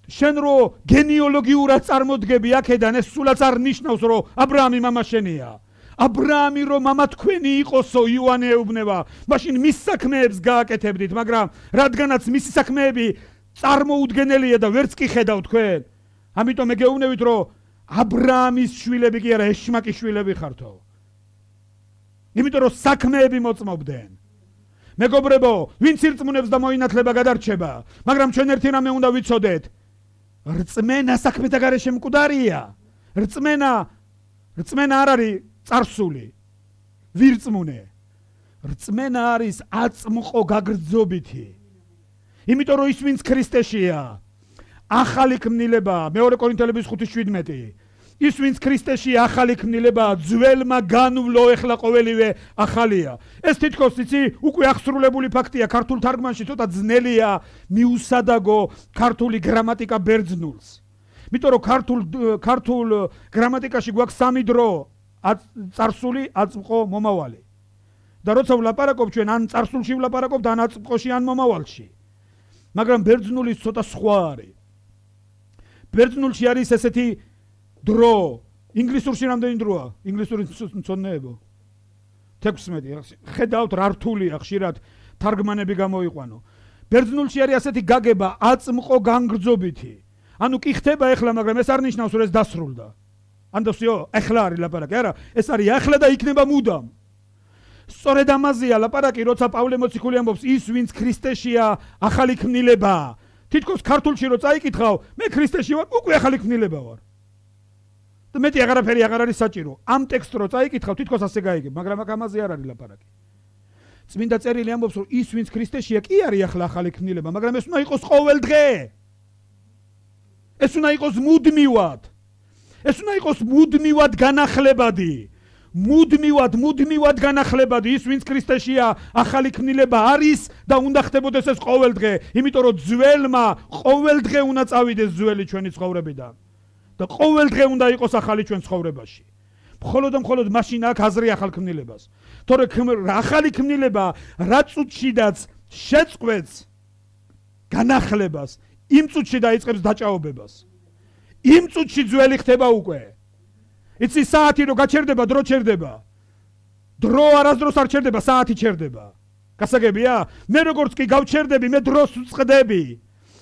შენ რო გენეალოგიურად წარმოდგები აქედან, ეს სულაც არ ნიშნავს რომ აბრაამი მამა შენია. აბრაამი რომ მამა თქვენი იყოსო, იოანე ეუბნება, მაშინ მის საქმეებს გააკეთებდით, მაგრამ რადგანაც მისი საქმეები წარმოუდგენელია და ვერც კი ხედავთ თქვენ, ამიტომ მეგეუბნებით რომ აბრაამის შვილები კი არა, ეშმაკის შვილები ხართო. იმიტომ რომ საქმეები მოწმობდნენ. მეგობრებო, ვინც ირწმუნებს და მოინათლება გადარჩება, მაგრამ ჩვენ ერთი რამე უნდა ვიცოდეთ. რწმენა საქმეთა გარეშე მკვდარია. რწმენა რწმენა არ არის წარსული. ვირწმუნე. რწმენა არის აწმყო გაგრძობითი. იმიტომ რომ ის ვინც ქრისტეშია, ახალი ქმნილებაა, მეორე კორინთელების ხუთი შვიდმეტი. ის ვინც ქრისტეშია, ახალი ქმნილებაა, ძველმა განვლო, ეხლა ყოველივე ახალია. ეს თითქოს იცი, უკვე აღსრულებული ფაქტია, ქართულ თარგმანში ცოტა ძნელია მიუსადაგო ქართული გრამატიკა ბერძნულს. იმიტომ რომ ქართულ ქართულ გრამატიკაში გვაქვს სამი დრო, წარსული, აწმყო, მომავალი. და როცა ვლაპარაკობ ჩვენ ან წარსულში ვლაპარაკობ და ან აწმყოში ან მომავალში. მაგრამ ბერძნული ცოტა სხვა არის. ბერძნულში არის ესეთი დრო, ინგლისურში რამდენი დროა? ინგლისური მცოდნეებო. თექვსმეტი. ხედავთ რა რთულია ხშირად თარგმანები გამოიყვანო. ბერძნულში არის ასეთი გაგება, აწმყო განგრძობითი. ანუ კი ხდება ეხლა, მაგრამ ეს არ ნიშნავს რომ ეს დასრულდა. ანდოსიო, ეხლა არის ლაპარაკი, არა, ეს არის ახლა და იქნება მუდამ. სწორედ ამაზეა ლაპარაკი, როცა პავლე მოციქული ამბობს, ის ვინც ქრისტეშია, ახალი ქმნილებაა. თითქოს ქართულში რო წაიკითხავ, მე ქრისტეში ვარ, უკვე ახალი ქმნილება ვარ. და მეტი აღარაფერი აღარ არის საჭირო. ამ ტექსტს რო წაიკითხავ, თითქოს ასე გაიგებ, მაგრამ აქ ამაზე არ არის ლაპარაკი. წმინდა წერილი ამბობს, რომ ის ვინც ქრისტეშია, კი არის ახლა ახალი ქმნილება, მაგრამ ეს უნდა იყოს ყოველდღე. ეს უნდა იყოს მუდმივად. ეს უნდა იყოს მუდმივად განახლებადი. მუდმივად, მუდმივად განახლებადი ის ვინც ქრისტეშია, ახალი ქმნილება არის და უნდა ხდებოდეს ეს ყოველდღე, იმიტომ რომ ძველმა ყოველდღე უნდა წავიდეს ძველი ჩვენი ცხოვრებიდან. და ყოველდღე უნდა იყოს ახალი ჩვენ ცხოვრებაში. მხოლოდ და მხოლოდ მაშინ აქვს აზრი ახალ ქმნილებას. თორემ ახალი ქმნილება რა წუთშიდაც შეწყვეტს განახლებას, იმ წუთში დაიწყებს დაჭაობებას. იმ წუთში ძველი ხდება უკვე. იცი საათი რო გაჩერდება, დრო ჩერდება. დრო არასდროს არ ჩერდება, საათი ჩერდება. გასაგებია? მე როგორც კი გავჩერდები, მე დროს ვწყდები.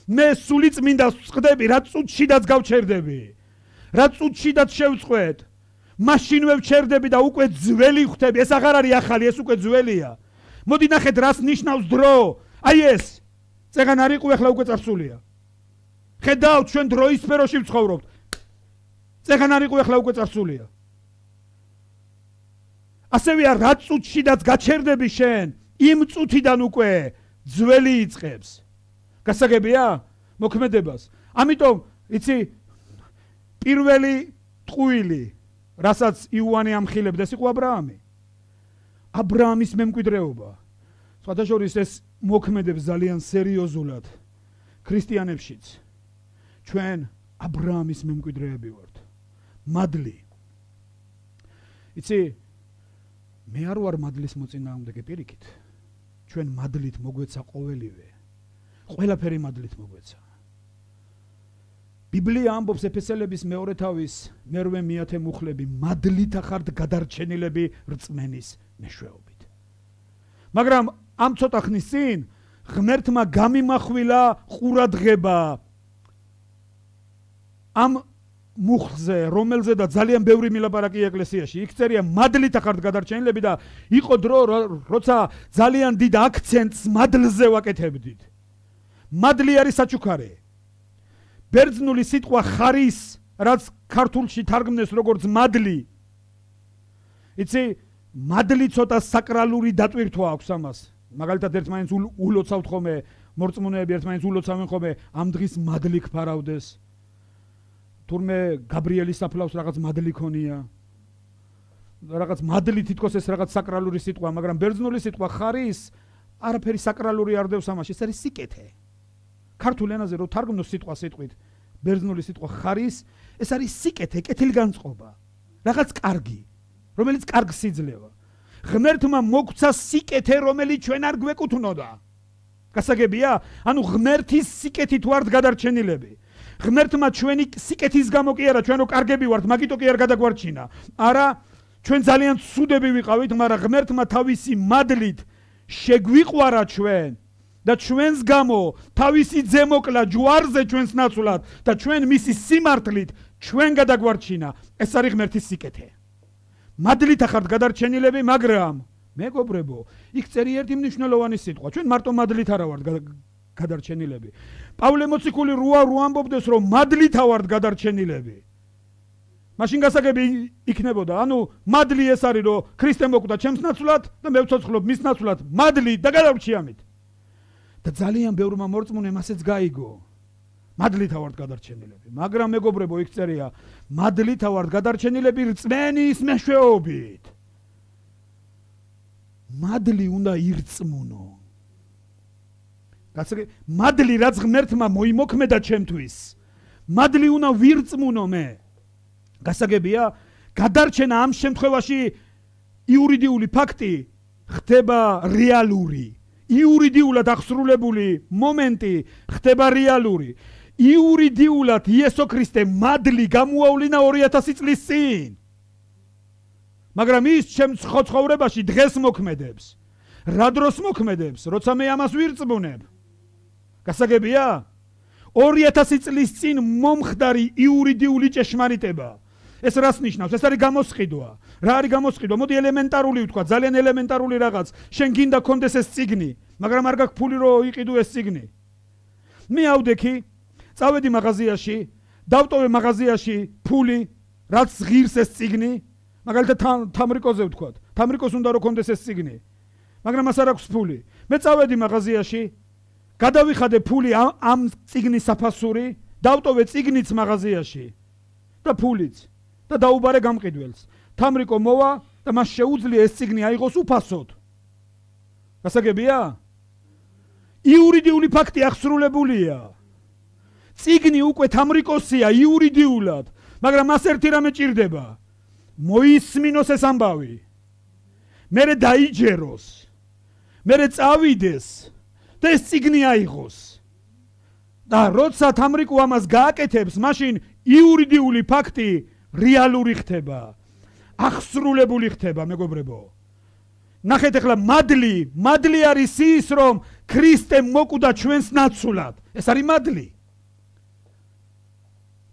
მე სული წმინდას ვწყდები, რა წუთშიდაც გავჩერდები. რა წუთშიდაც შევწყვეტ. მაშინვე ვჩერდები და უკვე ძველი ხვდები. ეს აღარ არის ახალი, ეს უკვე ძველია. მოდი ნახეთ რას ნიშნავს დრო. აი ეს. წეგან არ იყო ახლა უკვე წარსულია. ხედავთ ჩვენ დროის სფეროში ვცხოვრობთ. წეგან არ იყო ახლა უკვე წარსულია. ასევეა რა წუთშიდაც გაჩერდები შენ, იმ წუთიდან უკვე ძველი იწყებს. გასაგებია მოქმედებას. ამიტომ იცი პირველი ტყუილი რასაც იოანე ამხილებდა, ეს იყო აბრაამი. აბრაამის მემკვიდრეობა. სხვადასხვა ეს მოქმედებს ძალიან სერიოზულად ქრისტიანებშიც. ჩვენ აბრაამის მემკვიდრეები ვართ. მადლი. იცი მე არ ვარ მადლის მოწინააღმდეგე პირიქით. ჩვენ მადლით მოგვეცა ყოველივე. ყველაფერი მადლით მოგვეცა. ბიბლია ამბობს ეფესელების მეორე თავის მერვე მეათე მუხლები, მადლით ახართ გადარჩენილები რწმენის მეშვეობით. მაგრამ ამ ცოტა ხნის წინ ღმერთმა გამიმახვილა ყურადღება ამ მუხლზე, რომელზედა ძალიან ბევრი მილაპარაკი ეკლესიაში. იქ წერია მადლით ახართ გადარჩენილები და იყო დრო, როცა ძალიან დიდ აქცენტს მადლზე ვაკეთებდით. მადლი არის საჩუქარი. ბერძნული სიტყვა ხარის, რაც ქართულში თარგმნეს როგორც მადლი. იცი, მადლი ცოტა საკრალური დატვირთვა აქვს ამას. მაგალითად ერთმანეთს ულოცავთ ხოლმე, მორწმუნეები ერთმანეთს ულოცავენ ხოლმე, ამ დღის მადლი გფარავდეს. თურმე გაბრიელის საფლავს რაღაც მადლი ქონია. რაღაც მადლი თითქოს ეს რაღაც საკრალური სიტყვა, მაგრამ ბერძნული სიტყვა ხარის არაფერი საკრალური არ დევს ამაში, ეს არის სიკეთე. ქართულ ენაზე რო თარგმნოს სიტყვა სიტყვით, ბერძნული სიტყვა ხარის, ეს არის სიკეთე, კეთილგანწყობა. რაღაც კარგი, რომელიც კარგს იძლევა. ღმერთმა მოგცა სიკეთე, რომელიც ჩვენ არ გვეკუთვნოდა. გასაგებია? ანუ ღმერთის სიკეთით ვართ გადარჩენილები. ღმერთმა ჩვენი სიკეთის გამო კი არა, ჩვენ რო კარგები ვართ, მაგიტო კი არ გადაგვარჩინა. არა, ჩვენ ძალიან ცუდები ვიყავით, მაგრამ ღმერთმა თავისი მადლით შეგვიყვარა ჩვენ და ჩვენს გამო თავისი ძე მოკლა ჯვარზე ჩვენს ნაცვლად და ჩვენ მისი სიმართლით ჩვენ გადაგვარჩინა. ეს არის ღმერთის სიკეთე. მადლით ახართ გადარჩენილები, მაგრამ მეგობრებო, იქ წერია ერთი მნიშვნელოვანი სიტყვა. ჩვენ მარტო მადლით არა ვართ გადარჩენილები. პავლე მოციქული როა რო ამბობდეს, რომ მადლით ვართ გადარჩენილები. მაშინ გასაგები იქნებოდა, ანუ მადლი ეს არის, რომ ქრისტე მოკვდა ჩემს ნაცვლად და მე ვცოცხლობ მის ნაცვლად. მადლი და გადავრჩი ამით. და ძალიან ბევრმა მორწმუნემ ასეც გაიგო. მადლით ვართ გადარჩენილები. მაგრამ მეგობრებო, იქ წერია, მადლით ვართ გადარჩენილები რწმენის მეშვეობით. მადლი უნდა ირწმუნო. გასაგები, მადლი რაც ღმერთმა მოიმოქმედა ჩემთვის. მადლი უნდა ვირწმუნო მე. გასაგებია, გადარჩენა ამ შემთხვევაში იურიდიული ფაქტი ხდება რეალური. იურიდიულად აღსრულებული მომენტი ხდება რეალური. იურიდიულად იესო ქრისტე მადლი გამოავლინა ორი ათასი წლის წინ. მაგრამ ის ჩემ ცხოვრებაში დღეს მოქმედებს. რა დროს მოქმედებს, როცა მე ამას ვირწმუნებ. გასაგებია? ორი ათასი წლის წინ მომხდარი იურიდიული ჭეშმარიტება. ეს რას ნიშნავს? ეს არის გამოსყიდვა. რა არის გამოსყიდვა? მოდი ელემენტარული ვთქვა, ძალიან ელემენტარული რაღაც. შენ გინდა კონდეს ეს წიგნი, მაგრამ არ გაქვს ფული რომ იყიდო ეს წიგნი. მე ავდექი, წავედი მაღაზიაში, დავტოვე მაღაზიაში ფული, რაც ღირს ეს წიგნი, მაგალითად თამრიკოზე ვთქვათ. თამრიკოს უნდა რომ კონდეს ეს წიგნი. მაგრამ მას არ აქვს ფული. მე წავედი მაღაზიაში, გადავიხადე ფული ამ წიგნის საფასური, დავტოვე წიგნიც მაღაზიაში და ფულიც და დაუბარე გამყიდველს. თამრიკო მოვა და მას შეუძლია ეს წიგნი აიღოს უფასოდ. გასაგებია? იურიდიული ფაქტი აღსრულებულია. წიგნი უკვე თამრიკოსია იურიდიულად, მაგრამ მას ერთი რამე ჭირდება. მოისმინოს ეს ამბავი. მერე დაიჯეროს. მერე წავიდეს და ეს წიგნი აიღოს. და როცა თამრიკო ამას გააკეთებს, მაშინ იურიდიული ფაქტი რეალური ხდება. აღსრულებული ხდება, მეგობრებო. ნახეთ ახლა მადლი, მადლი არის ის, რომ ქრისტე მოკვდა ჩვენს ნაცვლად. ეს არის მადლი.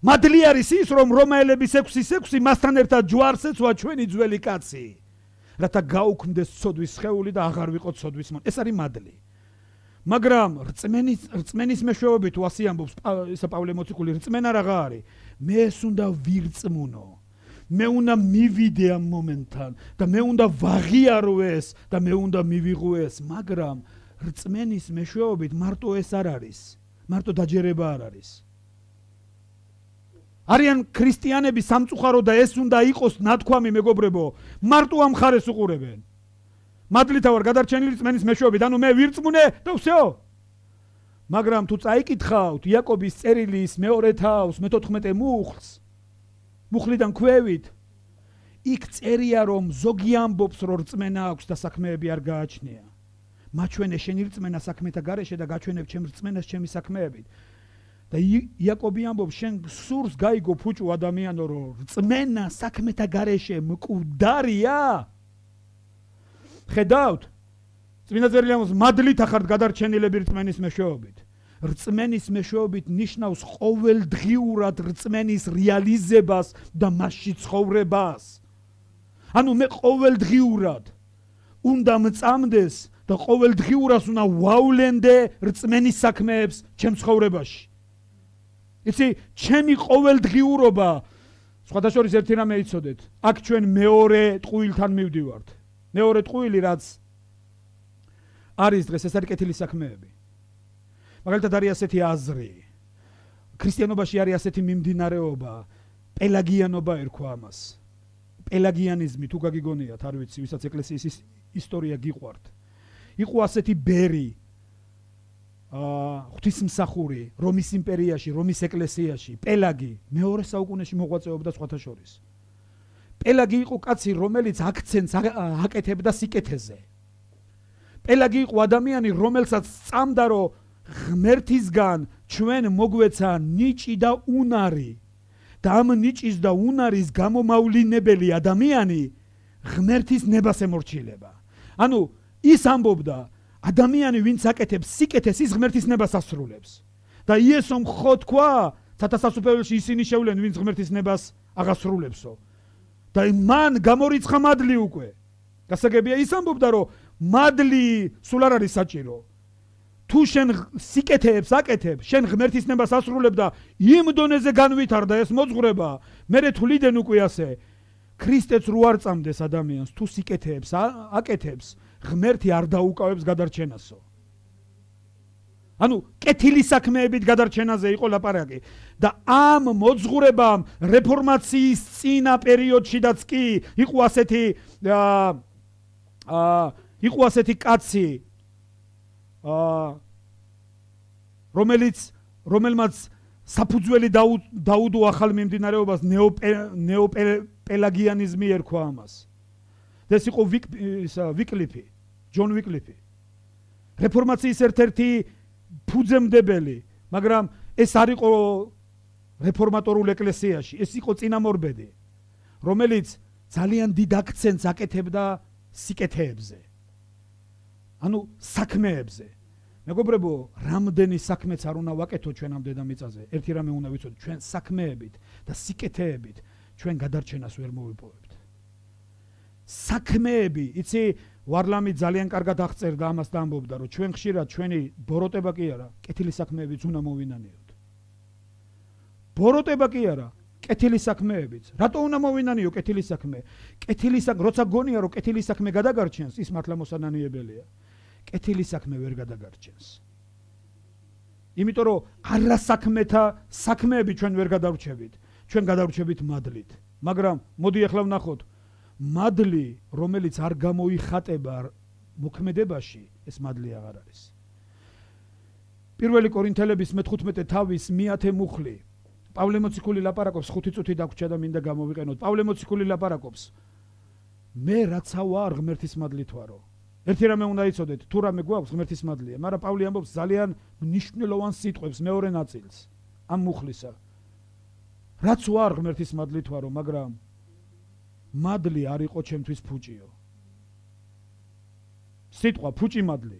მადლი არის ის, რომ რომაელების ექვსის ექვსი მასთან ერთად ჯვარს ეცვა ჩვენი ძველი კაცი, რათა გაუქმდეს ცოდვის სხეული და აღარ ვიყოთ ცოდვის მონ. ეს არის მადლი. მაგრამ რწმენის რწმენის მეშვეობით თუ ასე ამბობს ისა პავლე მოციქული, რწმენა რაღა არის? მე ეს უნდა ვირწმუნო. მე უნდა მივიდე ამ მომენტთან და მე უნდა ვაღიარო ეს და მე უნდა მივიღო ეს, მაგრამ რწმენის მეშვეობით მარტო ეს არ არის. მარტო დაჯერება არ არის. არიან ქრისტიანები სამწუხარო და ეს უნდა იყოს ნათქვამი, მეგობრებო, მარტო ამ ხარეს უყურებენ. მადლითა ვარ გადარჩენილი რწმენის მეშვეობით, ანუ მე ვირწმუნე და ვсё. მაგრამ თუ წაიკითხავთ იაკობის წერილის მეორე თავს მეთოთხმეტე მუხლს, მუხლიდან ქვევით, იქ წერია რომ ზოგი ამბობს რომ რწმენა აქვს და საქმეები არ გააჩნია. მაჩვენე შენი რწმენა საქმეთა გარეშე და გაჩვენებ ჩემ რწმენას ჩემი საქმეებით. და იაკობი ამბობს შენ სურს გაიგო ფუჭუ ადამიანო რომ რწმენა საქმეთა გარეშე მკვდარია. ხედავთ? წმინდა წერილი ამბობს მადლით ახართ გადარჩენილები რწმენის მეშვეობით. რწმენის მეშვეობით ნიშნავს ყოველდღიურად რწმენის რეალიზებას და მასში ცხოვრებას. ანუ მე ყოველდღიურად უნდა მწამდეს და ყოველდღიურად უნდა ვავლენდე რწმენის საქმეებს ჩემ ცხოვრებაში. იცი, ჩემი ყოველდღიურობა, სხვათა შორის ერთი რამე იცოდეთ, აქ ჩვენ მეორე ტყუილთან მივდივართ. მეორე ტყუილი რაც არის დღეს, ეს არის კეთილი საქმეები. მაგალითად არის ასეთი აზრი. ქრისტიანობაში არის ასეთი მიმდინარეობა, პელაგიანობა ერქვა ამას. პელაგიანიზმი თუ გაგიგონიათ, არ ვიცი, ვისაც ეკლესიის ისტორია გიყვართ. იყო ასეთი ბერი, აა ღვთისმსახური რომის იმპერიაში, რომის ეკლესიაში, პელაგი მეორე საუკუნეში მოღვაწეობდა სხვათა შორის. პელაგი იყო კაცი, რომელიც აქცენტს აკეთებდა სიკეთეზე. პელაგი იყო ადამიანი, რომელსაც სწამდა, რომ ღმერთისგან ჩვენ მოგვეცა ნიჭი და უნარი და ამ ნიჭის და უნარის გამომავლინებელი ადამიანი ღმერთის ნებას ემორჩილება. ანუ ის ამბობდა, ადამიანი ვინც აკეთებს სიკეთეს, ის ღმერთის ნებას ასრულებს. და იესომ ხო თქვა, სათასასუფეველში ისინი შევლენ, ვინც ღმერთის ნებას აღასრულებსო. და მან გამორიცხა მადლი უკვე. გასაგებია, ის ამბობდა, რომ მადლი სულ არ არის საჭირო. თუ შენ სიკეთეებს აკეთებ, შენ ღმერთის ნებას ასრულებ და იმ დონეზე განვითარდა ეს მოძღვრება, მერე თვლიდან უკვე ასე, ქრისტეც რო არ წამდეს ადამიანს, თუ სიკეთეებს აკეთებს, ღმერთი არ დაუკავებს გადარჩენასო. ანუ კეთილი საქმეებით გადარჩენაზე იყო ლაპარაკი და ამ მოძღვრებამ რეფორმაციის წინა პერიოდშიდაც კი იყო ასეთი აა იყო ასეთი კაცი აა რომელიც რომელმაც საფუძველი დაუდო ახალ მიმდინარეობას ნეოპელაგიანიზმი ერქვა ამას. და ეს იყო ვიკლიფი, ჯონ ვიკლიფი. რეფორმაციის ერთ-ერთი ფუძემდებელი, მაგრამ ეს არ იყო რეფორმატორულ ეკლესიაში, ეს იყო წინამორბედი, რომელიც ძალიან დიდ აქცენტს აკეთებდა სიკეთეებზე. ანუ საქმეებზე. მეგობრებო, რამდენი საქმეც არ უნდა ვაკეთო ჩვენ ამ დედამიწაზე, ერთი რამე უნდა ვიცოდეთ, ჩვენ საქმეებით და სიკეთეებით ჩვენ გადარჩენას ვერ მოვიპოვებთ. საქმეები, იცი, ვარლამი ძალიან კარგად აღწერდა ამას და ამბობდა, რომ ჩვენ ხშირად ჩვენი ბოროტება კი არა, კეთილი საქმეებიც უნდა მოვინანიოთ. ბოროტება კი არა, კეთილი საქმეებიც. რატო უნდა მოვინანიო კეთილი საქმე? კეთილი საქმე, როცა გონია რომ კეთილი საქმე გადაგარჩენს, ის მართლა მოსანანიებელია. კეთილი საქმე ვერ გადაგარჩენს. იმიტომ რომ არასაქმეთა საქმეები ჩვენ ვერ გადავრჩებით. ჩვენ გადავრჩებით მადლით. მაგრამ მოდი ახლა ვნახოთ. მადლი, რომელიც არ გამოიხატება მოქმედებაში, ეს მადლი აღარ არის. პირველი კორინთელების მეთერთმეტე თავის მეათე მუხლი. პავლე მოციქული ლაპარაკობს, ხუთი წუთი დაგვრჩა და მინდა გამოვიყენოთ. პავლე მოციქული ლაპარაკობს. მე რაცა ვარ ღმერთის მადლით ვარო. ერთი რამე უნდა იცოდეთ, თუ რამე გვაქვს ღმერთის მადლია, მაგრამ პავლე ამბობს ძალიან მნიშვნელოვან სიტყვებს მეორე ნაწილს ამ მუხლისა. რაც ვარ ღმერთის მადლით ვარო, მაგრამ მადლი არ იყო ჩემთვის ფუჭიო. სიტყვა ფუჭი მადლი.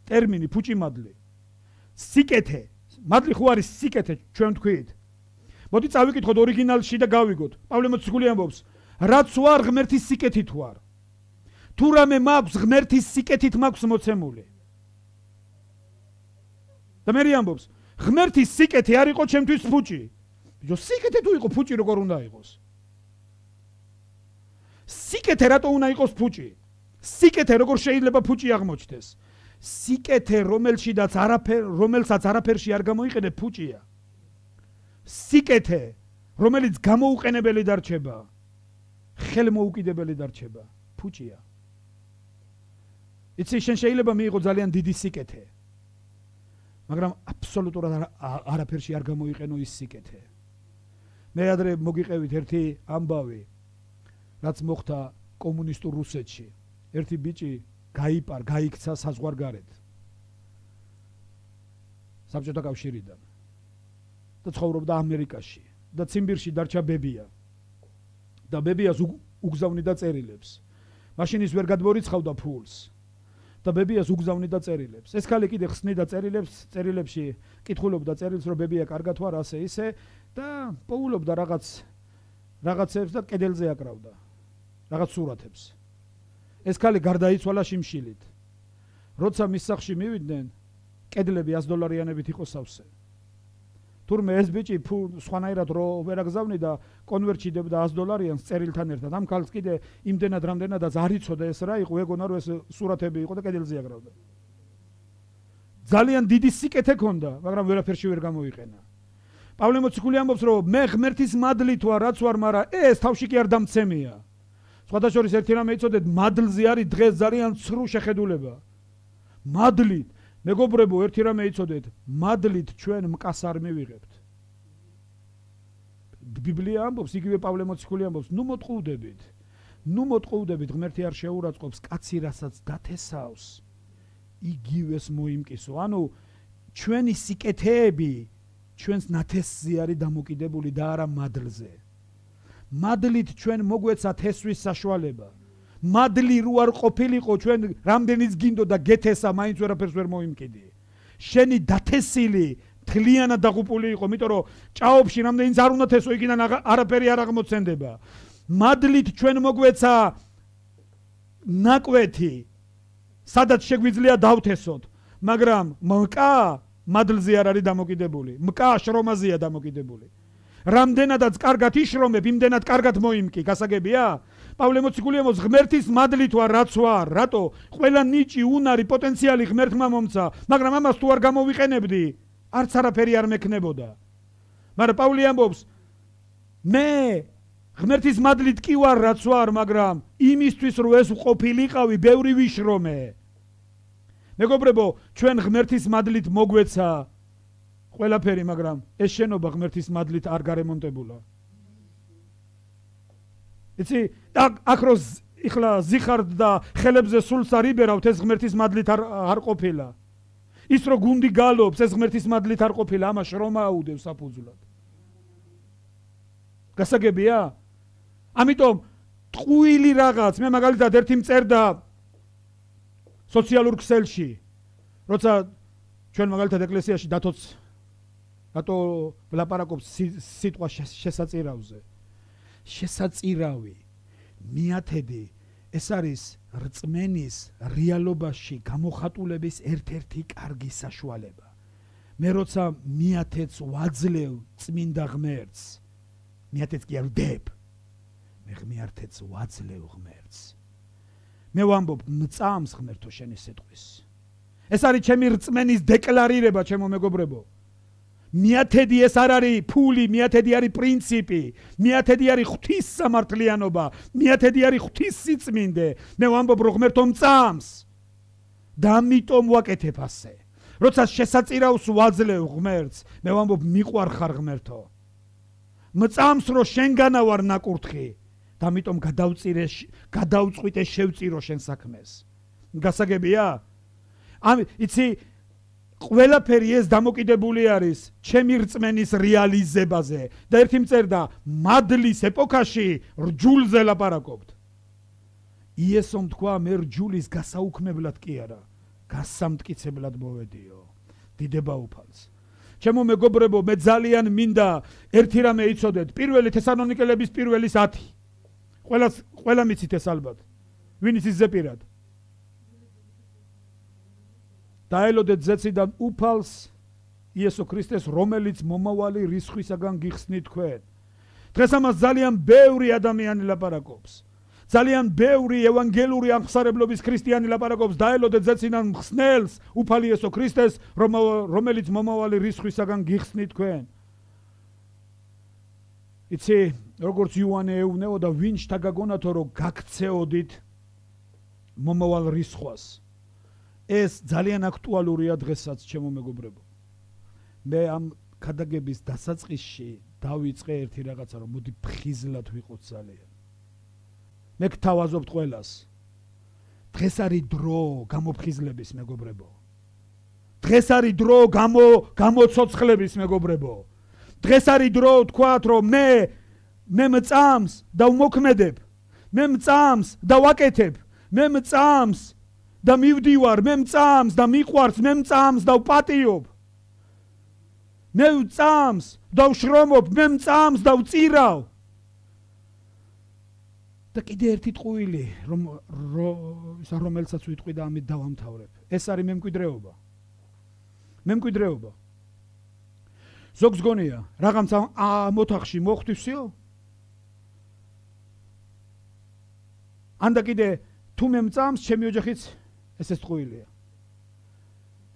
ტერმინი ფუჭი მადლი. სიკეთე. მადლი ხო არის სიკეთე, ჩვენ თქვით. მოდი წავიკითხოთ ორიგინალში და გავიგოთ. პავლე მოციქული ამბობს, რაც ვარ ღმერთის სიკეთით ვარ. თუ რამე მაქვს ღმერთის სიკეთით მაქვს მოცემული. და მე ამბობს, ღმერთის სიკეთე არ იყო ჩემთვის ფუჭი. ბიჭო, სიკეთე თუ იყო ფუჭი როგორ უნდა იყოს? სიკეთე რატო უნდა იყოს ფუჭი? სიკეთე როგორ შეიძლება ფუჭი აღმოჩნდეს? სიკეთე რომელშიდაც არაფერ, რომელსაც არაფერში არ გამოიყენებ ფუჭია. სიკეთე რომელიც გამოუყენებელი დარჩება, ხელმოუკიდებელი დარჩება, ფუჭია. იცი, შენ შეიძლება მიიღო ძალიან დიდი სიკეთე, მაგრამ აბსოლუტურად არაფერში არ გამოიყენო ის სიკეთე. მე ადრე მოგიყევით ერთი ამბავი, რაც მოხდა კომუნისტურ რუსეთში. ერთი ბიჭი გაიპარ, გაიქცა საზღვარგარეთ. საბჭოთა კავშირიდან. და ცხოვრობდა ამერიკაში და ციმბირში დარჩა ბებია. და ბებიას უგზავნიდა წერილებს. მაშინ ის ვერ გადმორიცხავდა ფულს. და ბებიას უგზავნიდა წერილებს. ეს ქალი კიდე ხსნიდა წერილებს, წერილებში კითხულობდა წერილს, რომ ბებია კარგად ვარ, ასე ისე და პოულობდა რაღაც რაღაცებს და კედელზე აკრავდა. რაღაც სურათებს. ეს ქალი გარდაიცვალა შიმშილით. როცა მის სახლში მივიდნენ, კედლები ას დოლარიანებით იყო სავსე. თურმე ეს ბიჭი სხვანაირად რო ვერ აგზავნიდა, კონვერტში დებდა ას დოლარიანს წერილთან ერთად. ამ ქალს კიდე იმდენად რამდენადაც არ იცოდა ეს რა იყო, ეგონა რომ ეს სურათები იყო და კედელზე აკრავდა. ძალიან დიდი სიკეთე ჰქონდა, მაგრამ ვერაფერში ვერ გამოიყენა. პავლე მოციქული ამბობს, რომ მე ღმერთის მადლით ვარ, რაც ვარ, მაგრამ ეს თავში კი არ დამცემია. სხვადასხვა ერთი რამე იცოდეთ, მადლზე არის დღეს ძალიან ცრუ შეხედულება. მადლით, მეგობრებო, ერთი რამე იცოდეთ, მადლით ჩვენ მკას არ მივიღებთ. ბიბლია ამბობს, იგივე პავლე მოციქული ამბობს, ნუ მოტყუდებით. ნუ მოტყუდებით, ღმერთი არ შეურაცხყოფს კაცი, რასაც დათესავს, იგივეს მოიმკისო. ანუ ჩვენი სიკეთეები ჩვენს ნათესზე არის დამოკიდებული და არა მადლზე. მადლით ჩვენ მოგვეცა თესვის საშუალება. მადლი რო არ ყოფილიყო, ჩვენ რამდენიც გინდოდა გეთესა, მაინც ვერაფერს ვერ მოიმკიდი. შენი დათესილი თლიანად დაღუპული იყო, იმიტომ რომ ჭაობში რამდენიც არ უნდა თესო, იქიდან არაფერი არ აღმოცენდება. მადლით ჩვენ მოგვეცა ნაკვეთი, სადაც შეგვიძლია დავთესოთ, მაგრამ მკა მადლზე არ არის დამოკიდებული. მკა შრომაზეა დამოკიდებული. რამდენადაც კარგად იშრომებ, იმდენად კარგად მოიმკი, გასაგებია? პავლე მოციქული ამბობს, ღმერთის მადლით ვარ, რაც ვარ. რატო? ყველა ნიჭი, უნარი, პოტენციალი ღმერთმა მომცა, მაგრამ ამას თუ არ გამოვიყენებდი, არც არაფერი არ მექნებოდა. მაგრამ პავლე ამბობს, მე ღმერთის მადლით კი ვარ, რაც ვარ, მაგრამ იმისთვის რომ ეს ყოფილიყავი, ბევრი ვიშრომე. მეგობრებო, ჩვენ ღმერთის მადლით მოგვეცა ყველაფერი, მაგრამ ეს შენობა ღმერთის მადლით არ გარემონტებულა. იცი, აქ რო იხლა ზიხარდ და ხელებზე სულს არ იბერავთ, ეს ღმერთის მადლით არ არ ყოფილა. ის რო გუნდი გალობს, ეს ღმერთის მადლით არ ყოფილა, ამას შრომა აუდევს საფუძვლად. გასაგებია? ამიტომ ტყუილი რაღაც, მე მაგალითად ერთი მწერდა სოციალურ ქსელში, როცა ჩვენ მაგალითად ეკლესიაში დათოც რატო ვლაპარაკობს სიტყვა შესაწირავზე. შესაწირავი, მიათედი, ეს არის რწმენის რეალობაში გამოხატულების ერთ-ერთი კარგი საშუალება. მე როცა მიათეთს ვაძლევ წმინდა ღმერთს, მიათეთს კი არ ვდებ, მე ღმერთს ვაძლევ ღმერთს. მე ვამბობ მწამს ღმერთო შენი სიტყვის. ეს არის ჩემი რწმენის დეკლარირება, ჩემო მეგობრებო. მიათედი ეს არ არის ფული, მიათედი არის პრინციპი, მიათედი არის ღვთის სამართლიანობა, მიათედი არის ღვთის სიწმინდე. მე ვამბობ რომ ღმერთო მწამს და ამიტომ ვაკეთებ ასე. როცა შესაწირავს ვაძლევ ღმერთს, მე ვამბობ მიყვარ ხარ ღმერთო. მწამს რომ შენგანა ვარ ნაკურთხი და ამიტომ გადავწირე გადავწყვიტე შევწირო შენ საქმეს. გასაგებია? ამ იცი ყველაფერი ეს დამოკიდებული არის ჩემი რწმენის რეალიზებაზე და ერთი მწერდა მადლის ეპოქაში რჯულზე ლაპარაკობთ. იესომ თქვა მე რჯულის გასაუქმებლად კი არა, გასამტკიცებლად მოვედიო. დიდება უფალს. ჩემო მეგობრებო, მე ძალიან მინდა ერთი რამე იცოდეთ. პირველი თესალონიკელების პირველის ათი. ყველას ყველა მიცით ეს ალბათ. ვინის ის ზეპირად? დაელოდეთ ზეციდან უფალს იესო ქრისტეს, რომელიც მომავალი რისხვისაგან გიხსნით თქვენ. დღეს ამას ძალიან ბევრი ადამიანი ლაპარაკობს. ძალიან ბევრი ევანგელური აღმსარებლობის ქრისტიანი ლაპარაკობს. დაელოდეთ ზეციდან მხსნელს, უფალი იესო ქრისტეს, რომელიც მომავალი რისხვისაგან გიხსნით თქვენ. იცი, როგორც იოანე ეუბნეოდა, ვინ შთაგაგონათო რომ გაქცეოდით მომავალ რისხვას. ეს ძალიან აქტუალურია დღესაც, ჩემო მეგობრებო. მე ამ ქადაგების დასაწყისში დავიწყე ერთი რაღაცა, რომ მოდი ფხიზლად ვიყოთ ძალიან. მე გთავაზობთ ყველას. დღეს არის დრო გამოფხიზლების, მეგობრებო. დღეს არის დრო გამო გამოცოცხლების, მეგობრებო. დღეს არის დრო თქვათ, რომ მე მე მწამს და ვმოქმედებ. მე მწამს და ვაკეთებ. მე მწამს და მივდივარ, მე მწამს და მიყვარს, მე მწამს და ვპატიობ. მე მწამს და ვშრომობ, მე მწამს და ვწირავ. და კიდე ერთი ტყუილი, რომ რომელსაც ვიტყვი და ამით დავამთავრებ. ეს არის მემკვიდრეობა. მემკვიდრეობა. ზოგს გონია, რაღაცა მოთახში მოხვდივსიო? ანდა კიდე თუ მე მწამს, ჩემი ოჯახიც ესეც ტყუილია.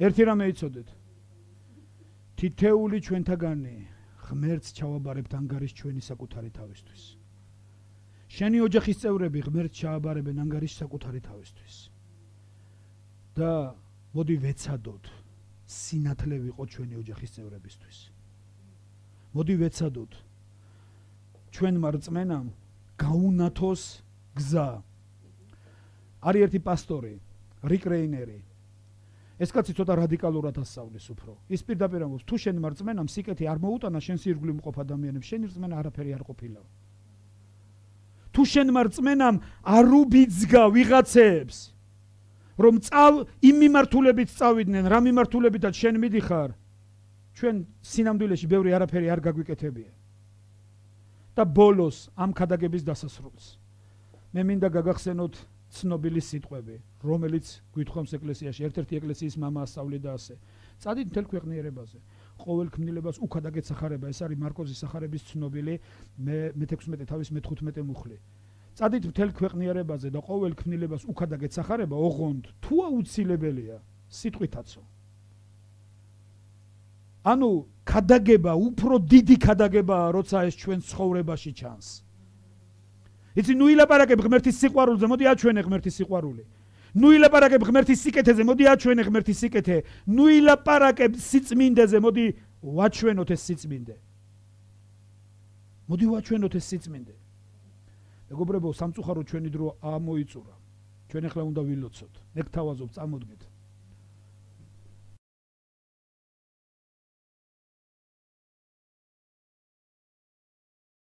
ერთი რამე იცოდეთ. თითეული ჩვენთაგანი ღმერთს ჩავაბარებთ ანგარიშ ჩვენი საკუთარი თავისთვის. შენი ოჯახის წევრები ღმერთს ჩააბარებენ ანგარიშ საკუთარი თავისთვის. და მოდი ვეცადოთ სინათლე ვიყოთ ჩვენი ოჯახის წევრებისთვის. მოდი ვეცადოთ ჩვენმა რწმენამ გაუნათოს გზა. არის ერთი პასტორი, რიკ რეინერი. ეს კაცი ცოტა რადიკალურად ასწავლის უფრო. ის პირდაპირ ამბობს, თუ შენ მარწმენამ სიკეთე არ მოუტანა შენ სირგვლი მყოფ ადამიანებს, შენი რწმენა არაფერი არ ყოფილა. თუ შენ მარწმენამ არ უბიძგა ვიღაცებს, რომ წავ იმ მიმართულებით წავიდნენ, რა მიმართულებითაც შენ მიდიხარ, ჩვენ სინამდვილეში ბევრი არაფერი არ გაგვიკეთებია. და ბოლოს ამ ქადაგების დასასრულს მე მინდა გაგახსენოთ ცნობილი სიტყვები, რომელიც გვითხოვს ეკლესიაში, ერთ-ერთი ეკლესიის მამა ასწავლიდა ასე. წადით მთელ ქვეყნიერებაზე, ყოველ ქმნილებას უქადაგეთ სახარება, ეს არის მარკოზის სახარების ცნობილი მეთექვსმეტე თავის მეთხუთმეტე მუხლი. წადით მთელ ქვეყნიერებაზე და ყოველ ქმნილებას უქადაგეთ სახარება, ოღონდ თუ აუცილებელია, სიტყვითაცო. ანუ ქადაგება, უფრო დიდი ქადაგებაა, როცა ეს ჩვენ ცხოვრებაში ჩანს. იცი, ნუ ილაპარაკებ ღმერთის სიყვარულზე, მოდი აჩვენე ღმერთის სიყვარული. ნუ ილაპარაკებ ღმერთის სიკეთეზე, მოდი აჩვენე ღმერთის სიკეთე. ნუ ილაპარაკებ სიწმინდეზე, მოდი ვაჩვენოთ ეს სიწმინდე. მოდი ვაჩვენოთ ეს სიწმინდე. მეგობრებო, სამწუხაროდ ჩვენი დრო ამოიწურა. ჩვენ ახლა უნდა ვილოცოთ. მე გთავაზობ, წამოდგეთ.